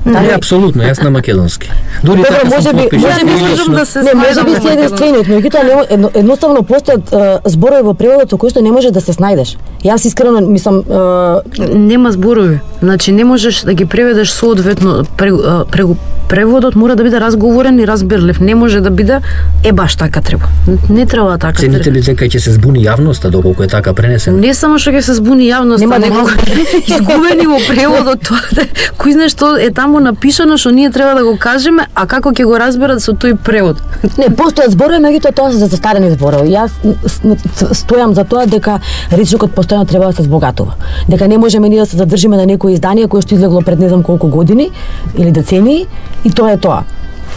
Не, апсолутно, јас на македонски. Дури Добро, така може сум би, подпишан. може би можам да се не, може би си еден стренет, меѓутоа едно, едноставно постојат зборови во преводот со кои што не можеш да се снајдеш. Јас искрено мислам е... нема зборови. Значи не можеш да ги преведеш соодветно преку преводот мора да биде разговорен и разбирлив. Не може да биде е баш така треба. Не треба така. Цените ли дека ќе се збуни јавноста доколку е така пренесено? Не само што ќе се збуни јавноста, нема да изгубени во преводот тоа. Кој знае што е таму напишано што ние треба да го кажеме, а како ќе го разберат со тој превод? Не, постојат зборови, меѓутоа тоа се застарени зборови. Јас стојам за тоа дека речникот постојано треба да се збогатува. Дека не можеме ни да се задржиме на некој издание кое што излегло пред не знам колку години или децении и тоа е тоа.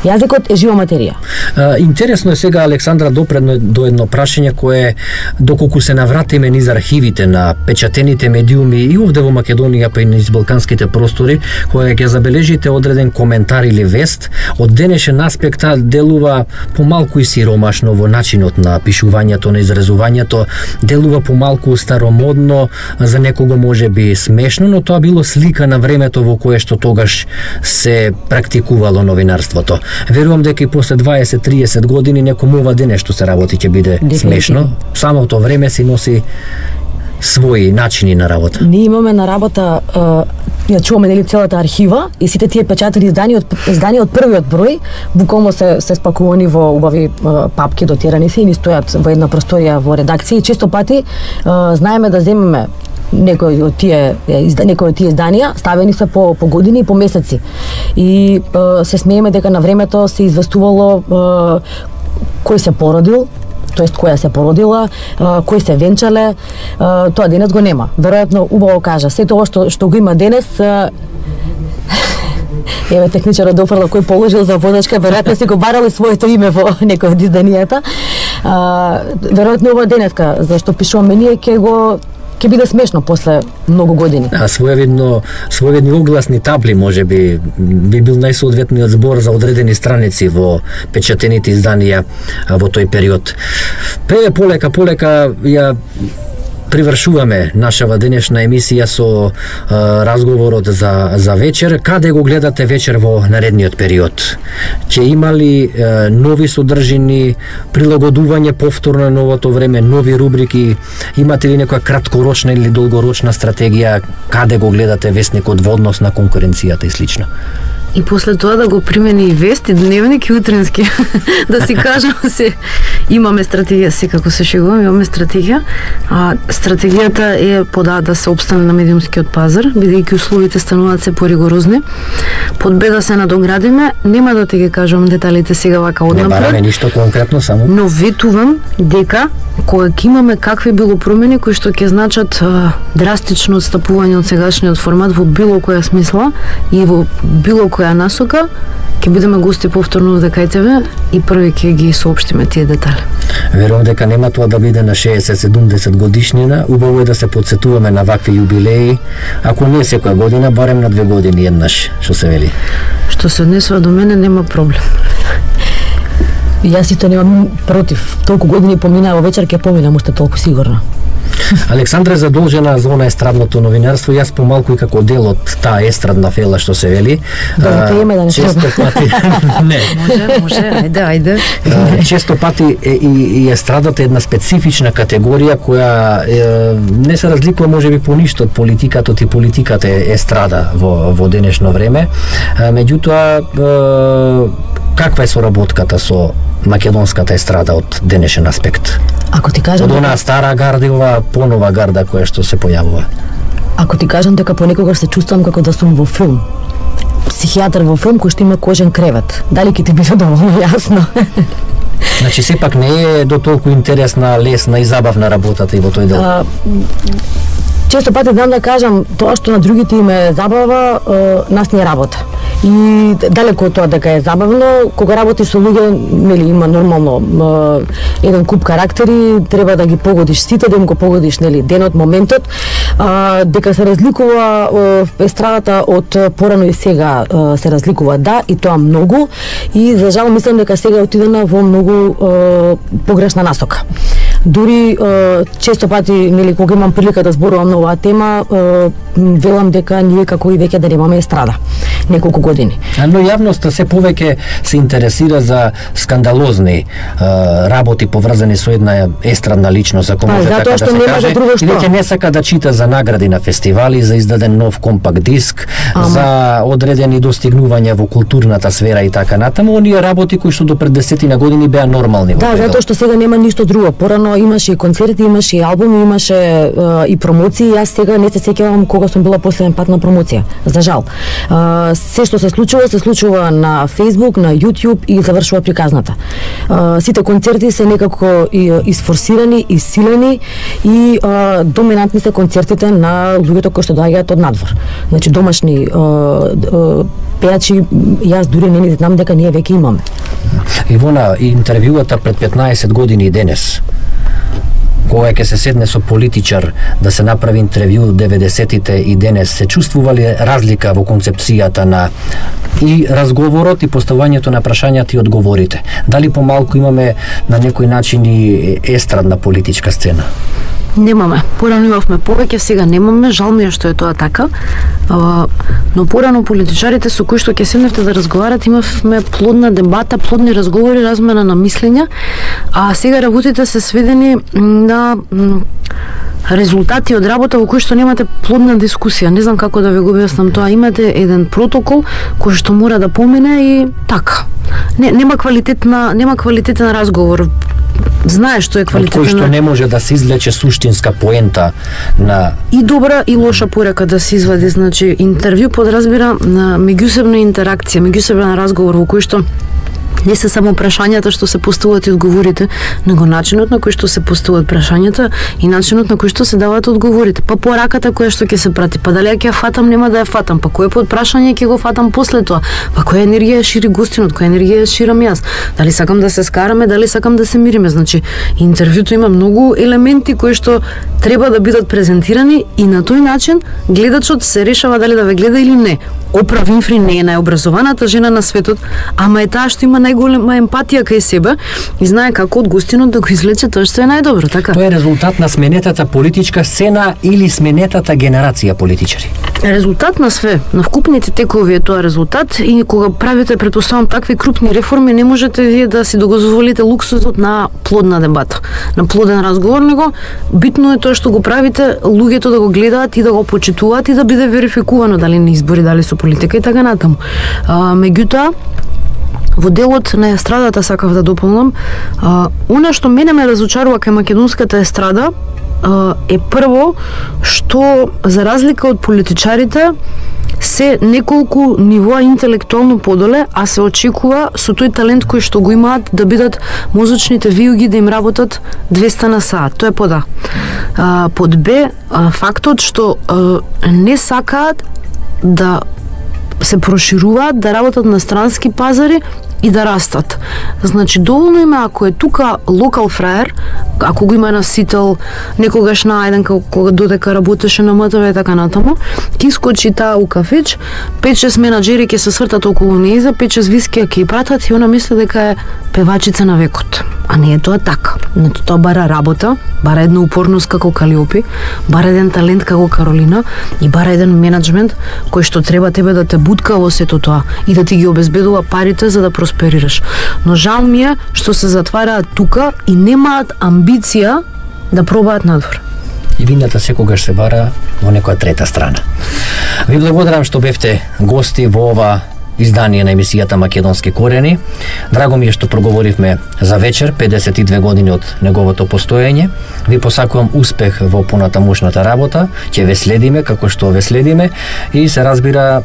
Јазикот е жива материја. А, интересно е сега, Александра, допредно до едно прашање кое, доколку се навратиме низ архивите на печатените медиуми и овде во Македонија, па и низ балканските простори, кое ќе забележите одреден коментар или вест, од денешен аспект делува помалку и сиромашно во начинот на пишувањето, на изразувањето, делува помалку старомодно, за некого може би смешно, но тоа било слика на времето во кое што тогаш се практикувало новинарството. Верувам дека и после дваесет до триесет години некому ова дене што се работи ќе биде смешно. Самото време си носи своји начини на работа. Ние имаме на работа, ја чуваме нели целата архива и сите тие печатени издания од издания од првиот број, буквално се се спакувани во убави папки, дотирани се и ни стојат во една просторија во редакција и често пати знаеме да земеме некои од тие некои од тие изданија ставени се по по години и по месеци. И е, се смееме дека на времето се известувало е, кој се породил, тоест која се породила, е, кој се венчале, е, тоа денес го нема. Веројатно убаво кажа, се тоа што што го има денес е, еве техничарот дофрло кој положил за водачка, веројатно си го барал и своето име во некој од изданијата. Е, веројатно ова денеска зашто пишуваме ние ќе го ќе биде смешно после многу години. А своевидно, своевидни огласни табли можеби би бил најсоодветниот збор за одредени страници во печатените изданија во тој период. Пре полека полека ја привршуваме нашава денешна емисија со а, разговорот за за вечер. Каде го гледате вечер во наредниот период? Ќе има ли а, нови содржини, прилагодување повторно на новото време, нови рубрики? Имате ли некоја краткорочна или долгорочна стратегија? Каде го гледате вестникот во однос на конкуренцијата и слично? И после тоа да го примени и вести, дневник и утренски. Да си кажам се, имаме стратегија, секако се шегувам, имаме стратегија. А стратегијата е пода да се опстане на медиумскиот пазар, бидејќи условите стануваат се поригорозни. Под бе да се надоградиме, нема да те ги кажам деталите сега вака однапред. Не бараме ништо конкретно, само. Но ветувам дека кога ќе имаме какви било промени кои што ќе значат а, драстично отстапување од сегашниот формат во било која смисла и во било која насока, ќе бидеме гости повторно овде кај тебе и први ќе ги соопштиме тие детали. Верувам дека нема тоа да биде на шеесет седумдесет годишнина, убаво е да се подсетуваме на вакви јубилеи, ако не секоја година, барем на две години еднаш, што се вели. Што се однесува до мене, нема проблем. Јас исто немам против. Толку години поминаа, во вечер ќе поминам уште толку сигурно. Александра е задолжена за она естрадното новинарство, јас помалку и како дел од таа естрадна фела што се вели. Да, ќе име да не често пати не. Може, може, ајде, ајде. Често пати е, и, и естрадата е една специфична категорија која е, не се разликува можеби по ништо од политиката, и политиката е естрада во во денешно време. Меѓутоа, каква е соработката со македонската естрада од денешен аспект? Ако ти кажам од онаа стара гарда и ова понова гарда која што се појавува. Ако ти кажам дека понекогаш се чувствувам како да сум во филм. Психијатар во филм кој што има кожен кревет. Дали ќе ти биде доволно јасно? Значи сепак не е до толку интересна, лесна и забавна работата и во тој дел. А, често пати знам да кажам тоа што на другите им е забава, е, нас не е работа. И далеко од тоа дека е забавно, кога работи со луѓе, нели има нормално е, еден куп карактери, треба да ги погодиш сите, да им го погодиш нели денот, моментот, а, дека се разликува е, естрадата од порано и сега е, се разликува, да, и тоа многу, и за жал мислам дека сега отидена во многу е, погрешна насока. Дури е, често пати, нели, кога имам прилика да зборувам на оваа тема, е, велам дека ние како и веќе да немаме естрада неколку години. Но јавноста се повеќе се интересира за скандалозни е, работи поврзани со една естрадна личност, ако може така да се каже, и веќе не сака да чита за награди на фестивали, за издаден нов компакт диск, Ама. за одредени достигнувања во културната сфера и така натаму, оние работи кои што до пред десетина години беа нормални. Да, затоа што сега нема ништо друго. Порано имаше и концерти, имаше и албуми, имаше е, и промоции. Јас сега не се сеќавам кога сум била последен пат на промоција. За жал. Е, се што се случува, се случува на Facebook, на YouTube и завршува приказната. Е, сите концерти се некако и, изфорсирани, изсилени и е, доминантни се концертите на луѓето кои што доаѓаат од надвор. Значи домашни е, е, пејачи, јас дури не знам дека ние веќе имаме. Ивона, интервјуата пред петнаесет години и денес, кога ќе се седне со политичар да се направи интервју деветдесетите и денес, се чувствува ли разлика во концепцијата на и разговорот и поставувањето на прашањата и одговорите? Дали помалку имаме на некој начин и естрадна политичка сцена? Немаме. Порано имавме повеќе, сега немаме. Жал ми е што е тоа така. А, но порано политичарите со кои што ќе седневте да разговарате, имавме плодна дебата, плодни разговори, размена на мислења, а сега работите се сведени на резултати од работа во кој што немате плодна дискусија. Не знам како да ви го објаснам тоа. Имате еден протокол кој што мора да помине и така. Не, нема квалитетна, нема квалитетен разговор. Знае што е квалитетен. Од кој што не може да се извлече суштинска поента на и добра и лоша порека да се извади. Значи интервју подразбира на меѓусебна интеракција, меѓусебен разговор во кој што не се само прашањата што се поставуваат и одговорите, него начинот на кој што се поставуваат прашањата и начинот на кој што се даваат одговорите. Па пораката која што ќе се прати, па дали ја ќе ја фатам, нема да ја фатам, па кој под прашање ќе го фатам после тоа, па која енергија шири гостинот, која енергија ширам јас, дали сакам да се скараме, дали сакам да се мириме. Значи, интервјуто има многу елементи кои што треба да бидат презентирани и на тој начин гледачот се решава дали да ве гледа или не. Опра Винфри не е најобразованата жена на светот, ама е таа што има најголема емпатија кај себе и знае како од гостинот да го извлече тоа што е најдобро, така? Тоа е резултат на сменетата политичка сцена или сменетата генерација политичари? Резултат на све, на вкупните текови е тоа резултат и кога правите, претпоставам, такви крупни реформи, не можете вие да си дозволите луксузот на плодна дебата, на плоден разговор, него битно е тоа што го правите, луѓето да го гледаат и да го почитуваат и да биде верификувано дали на избори, дали со политика и така натаму. А, меѓутоа, во делот на естрадата сакав да дополнам, а, она што мене ме разочарува кај македонската естрада а, е прво што за разлика од политичарите се неколку нивоа интелектуално подоле, а се очекува со тој талент кој што го имаат да бидат мозочните виуги да им работат двеста на саат. Тоа е под А. А, под Б, а, фактот што а, не сакаат да се прошируваат, да работат на странски пазари и да растат. Значи, доволно има ако е тука локал фраер, ако го има на сител, некогаш најден кога додека работеше на МТВ и така натаму, ќе искочи таа у кафеч, пет-шест менаџери ќе се свртат околу нејза, пет-шест вискија ќе пратат и она мисли дека е певачица на векот. А не е тоа така. Значи, тоа бара работа, бара една упорност како Калиопи, бара еден талент како Каролина и бара еден менеджмент кој што треба тебе да те бутка во сето тоа и да ти ги обезбедува парите за да просперираш. Но жал ми е што се затвараат тука и немаат амбиција да пробаат надвор. И вината секогаш се бара во некоја трета страна. Ви благодарам што бевте гости во ова издание на емисијата Македонски корени. Драго ми е што проговоривме за вечер, педесет и две години од неговото постоење. Ви посакувам успех во понатамушната работа, ќе ве следиме како што ве следиме и се разбира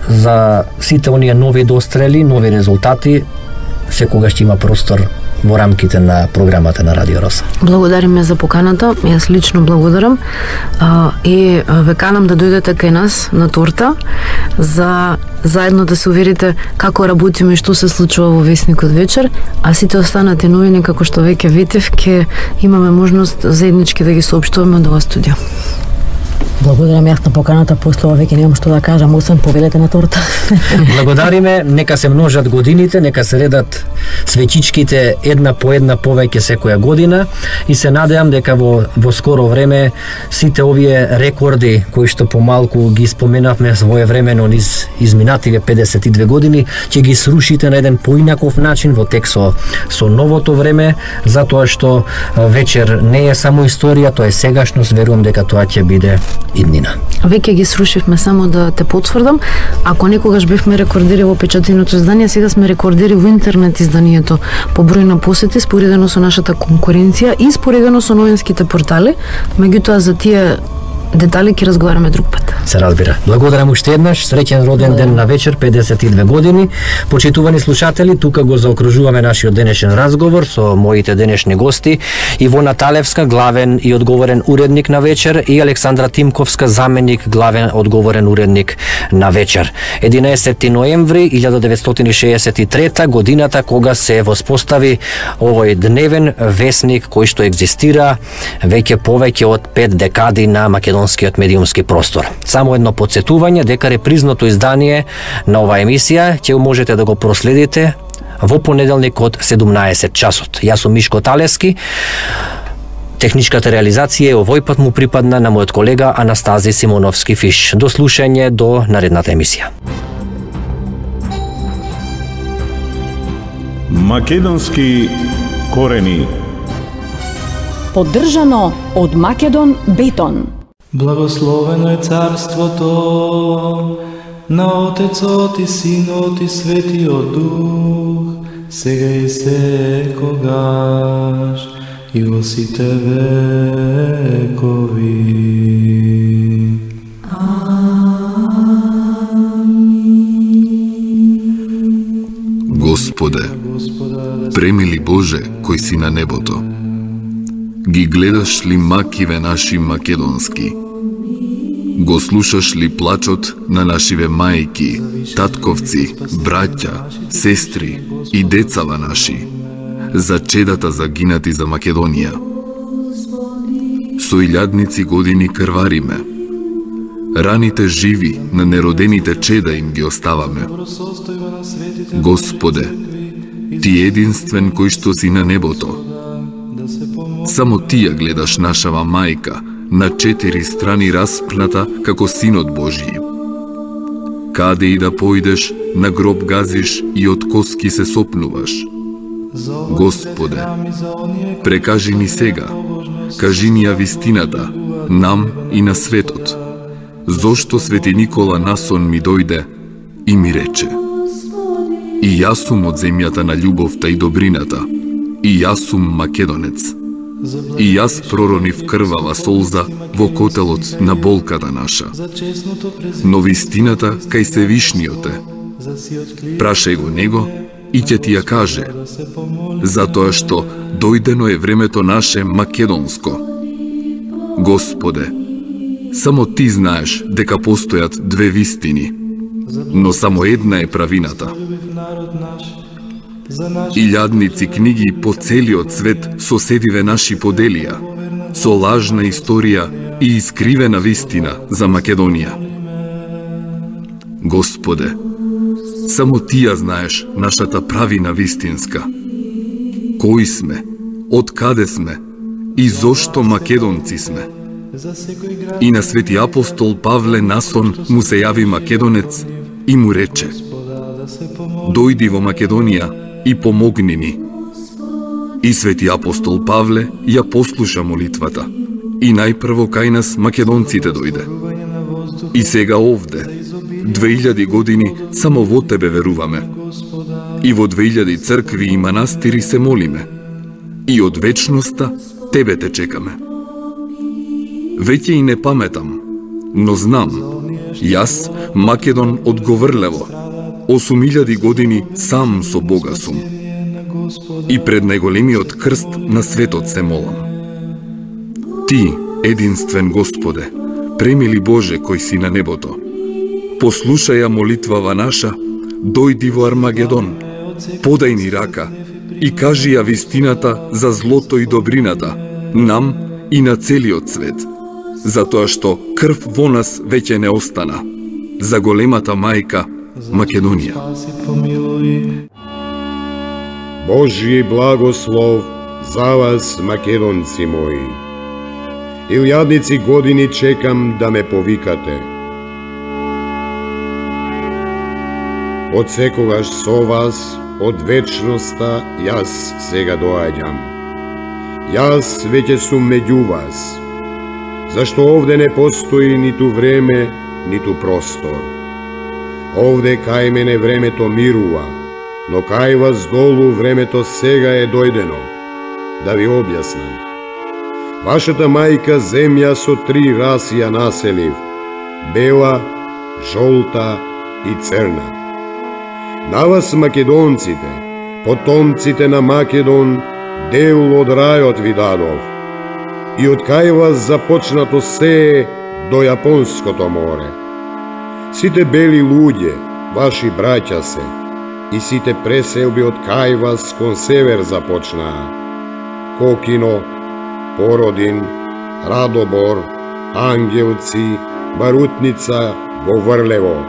за сите оние нови дострели, нови резултати, секогаш ќе има простор во рамките на програмата на Радио Роса. Благодариме за поканата, јас лично благодарам а, и ве канам да дојдете кај нас на торта за заедно да се уверите како работиме и што се случува во Весникот вечер, а сите останати новини како што веќе ветив ќе имаме можност заеднички да ги соопштуваме од ова студио. Благодарам јас на поканата, после ова веќе немам што да кажам, освен повелете на торта. Благодариме, нека се множат годините, нека се редат свечичките една по една повеќе секоја година и се надевам дека во, во скоро време сите овие рекорди кои што помалку ги споменавме своевремено низ изминативе педесет и две години, ќе ги срушите на еден поинаков начин во тек со, со новото време, затоа што вечер не е само историја, тоа е сегашност, верувам дека тоа ќе биде иднина. Веќе ги срушивме, само да те потврдам. Ако некогаш бевме рекордери во печатеното издание, сега сме рекордери во интернет изданието по број на посети, споредено со нашата конкуренција и споредено со новинските портали. Меѓутоа за тие детали ќе разговараме друг пат. Се разбира. Благодарам уште еднаш, среќен роден ден на вечер, педесет и две години. Почитувани слушатели, тука го заокружуваме нашиот денешен разговор со моите денешни гости: Ивона Талевска, главен и одговорен уредник на вечер, и Александра Тимковска, заменик главен одговорен уредник на вечер. единаесети ноември илјада деветстотини шеесет и трета годината кога се воспостави овој дневен весник кој што екзистира веќе повеќе од пет декади на македонскиот медиумски простор. Само едно подсетување дека репризното издание на оваа емисија ќе можете да го проследите во понеделник од седумнаесет часот. Јас сум Мишко Талевски. Техничката реализација овој пат му припадна на мојот колега Анастази Симоновски Фиш. До слушање до наредната емисија. Македонски корени. Поддржано од Македон Бетон. Благословено е царството на Отецот и Синот и Светиот Дух, сега и секогаш и во сите векови. Господе, премили Боже кој си на небото, ги гледаш ли макиве наши македонски? Го слушаш ли плачот на нашиве мајки, татковци, браќа, сестри и децава наши, за чедата загинати за Македонија? Со илјадници години крвариме, раните живи на неродените чеда им ги оставаме. Господе, Ти единствен кој што си на небото, само Ти ја гледаш нашава мајка, на четири страни распната како Синот Божји. Каде и да појдеш, на гроб газиш и од коски се сопнуваш. Господе, прекажи ни сега, кажи ни ја вистината, нам и на светот. Зошто Свети Никола насон ми дојде и ми рече: и јас сум од земјата на љубовта и добрината, и јас сум македонец. И јас проронив крвава солза во котелот на болката наша. Но вистината кај Севишниот е. Прашај го него и ќе ти ја каже, затоа што дојдено е времето наше македонско. Господе, само Ти знаеш дека постојат две вистини, но само една е правината. Илјадници книги по целиот свет соседиве наши поделија, со лажна историја и искривена вистина за Македонија. Господе, само Ти ја знаеш нашата правина вистинска. Кои сме, од каде сме и зошто македонци сме. И на свети апостол Павле насон му се јави македонец и му рече: дојди во Македонија и помогни ни. И свети апостол Павле ја послуша молитвата и најпрво кај нас македонците дојде. И сега овде, две илјади години, само во Тебе веруваме. И во две илјади цркви и манастири се молиме. И од вечноста Тебе те чекаме. Веќе и не паметам, но знам, јас, Македон од Говрлево, осум илјади години сам со Бога сум. И пред најголемиот крст на светот се молам. Ти, единствен Господе, премили Боже кој си на небото, послушај ја молитвава наша, дојди во Армагедон, подај ни рака и кажи ја вистината за злото и добрината, нам и на целиот свет, затоа што крв во нас веќе не остана, за големата мајка Македонија. Божји благослов за вас, македонци мои. Илјадници години чекам да ме повикате. Од секогаш со вас, од вечноста, јас сега доаѓам. Јас веќе сум меѓу вас, зашто овде не постои ниту време, ниту простор. Овде кај мене времето мирува, но кај вас долу времето сега е дојдено. Да ви објаснам. Вашата мајка земја со три раси ја населив: бела, жолта и црна. На вас, македонците, потомците на Македон, дел од рајот ви дадов. И од кај вас започнато се до Јапонското море. Сите бели луѓе, ваши браќа се, и сите преселби од кај вас кон север започнаа: Кокино, Породин, Радобор, Ангелци, Барутница, Говрлево.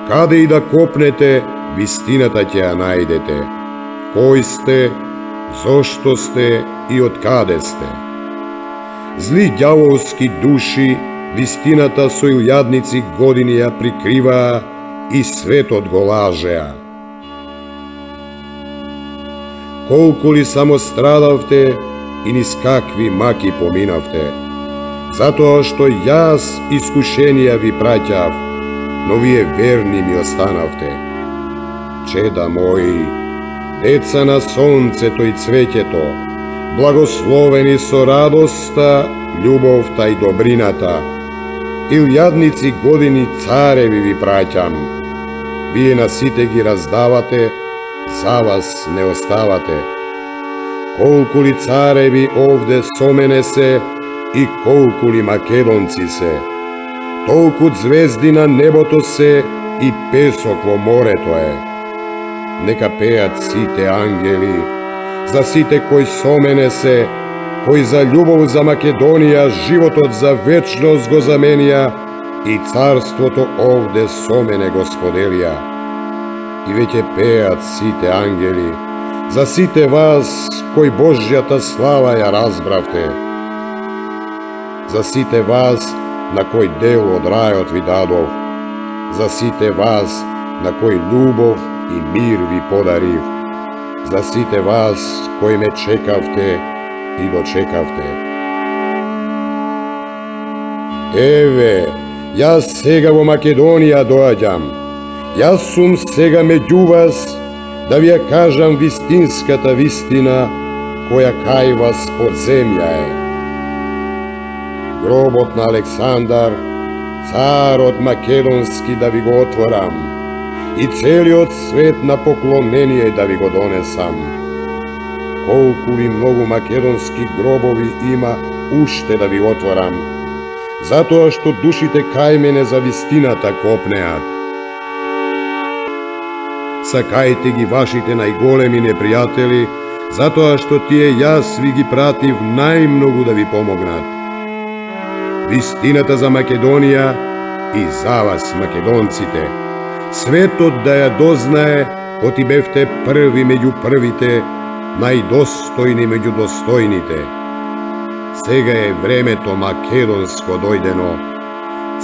Каде и да копнете, вистината ќе ја најдете. Кој сте, зошто сте и од каде сте. Зли ѓаволски души вистината со илјадници години ја прикриваа и светот го лажеа. Колку ли само страдавте и низ какви маки поминавте, затоа што јас искушенија ви праќав, но вие верни ми останавте. Чеда мои, деца на сонцето и цвеќето, благословени со радоста, љубовта и добрината, илјадници години цареви ви праќам. Вие на сите ги раздавате, за вас не оставате. Колку ли цареви овде со мене се и колку ли македонци се, толку звезди на небото се и песок во морето е. Нека пеат сите ангели, за сите кои со мене се, кои за љубов за Македонија животот за вечност го заменија и царството овде со мене го споделија. И веќе пеат сите ангели, за сите вас кои Божјата слава ја разбравте, за сите вас на кој дел од рајот ви дадов, за сите вас на кој љубов и мир ви подарив, за сите вас кои ме чекавте и дочекавте. Еве, јас сега во Македонија доаѓам. Јас сум сега меѓу вас да ви ја кажам вистинската вистина која кај вас под земја е. Гробот на Александар, царот македонски, да ви го отворам и целиот свет на поклонение да ви го донесам. Колку ли многу македонски гробови има уште да ви отворам, затоа што душите кај мене за вистината копнеат. сакајте ги вашите најголеми непријатели, затоа што тие јас ви ги пратив најмногу да ви помогнат. Вистината за Македонија и за вас, македонците, светот да ја дознае, оти бевте први меѓу првите, најдостојни меѓу достојните. Сега е времето македонско дојдено.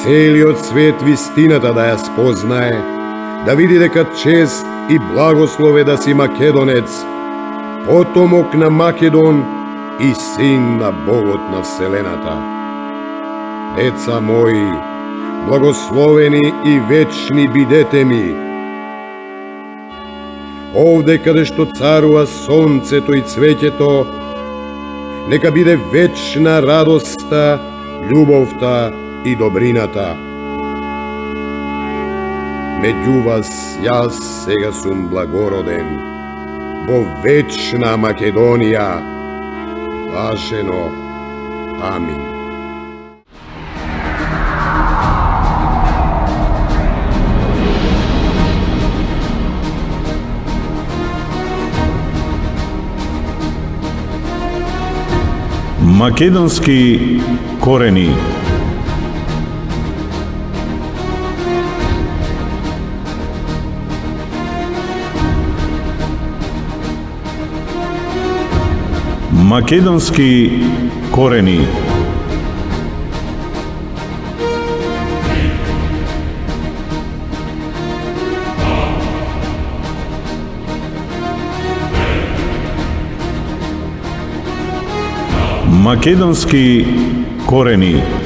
Целиот свет вистината да ја спознае, да види дека чест и благослове да си македонец, потомок на Македон и син на Богот на Вселената. Деца мои, благословени и вечни бидете ми. Овде каде што царува сонцето и цвеќето, нека биде вечна радоста, љубовта и добрината. Меѓу вас јас сега сум благороден, во вечна Македонија. Блажено. Амин. Македонски корени. Македонски корени. Македонски корени.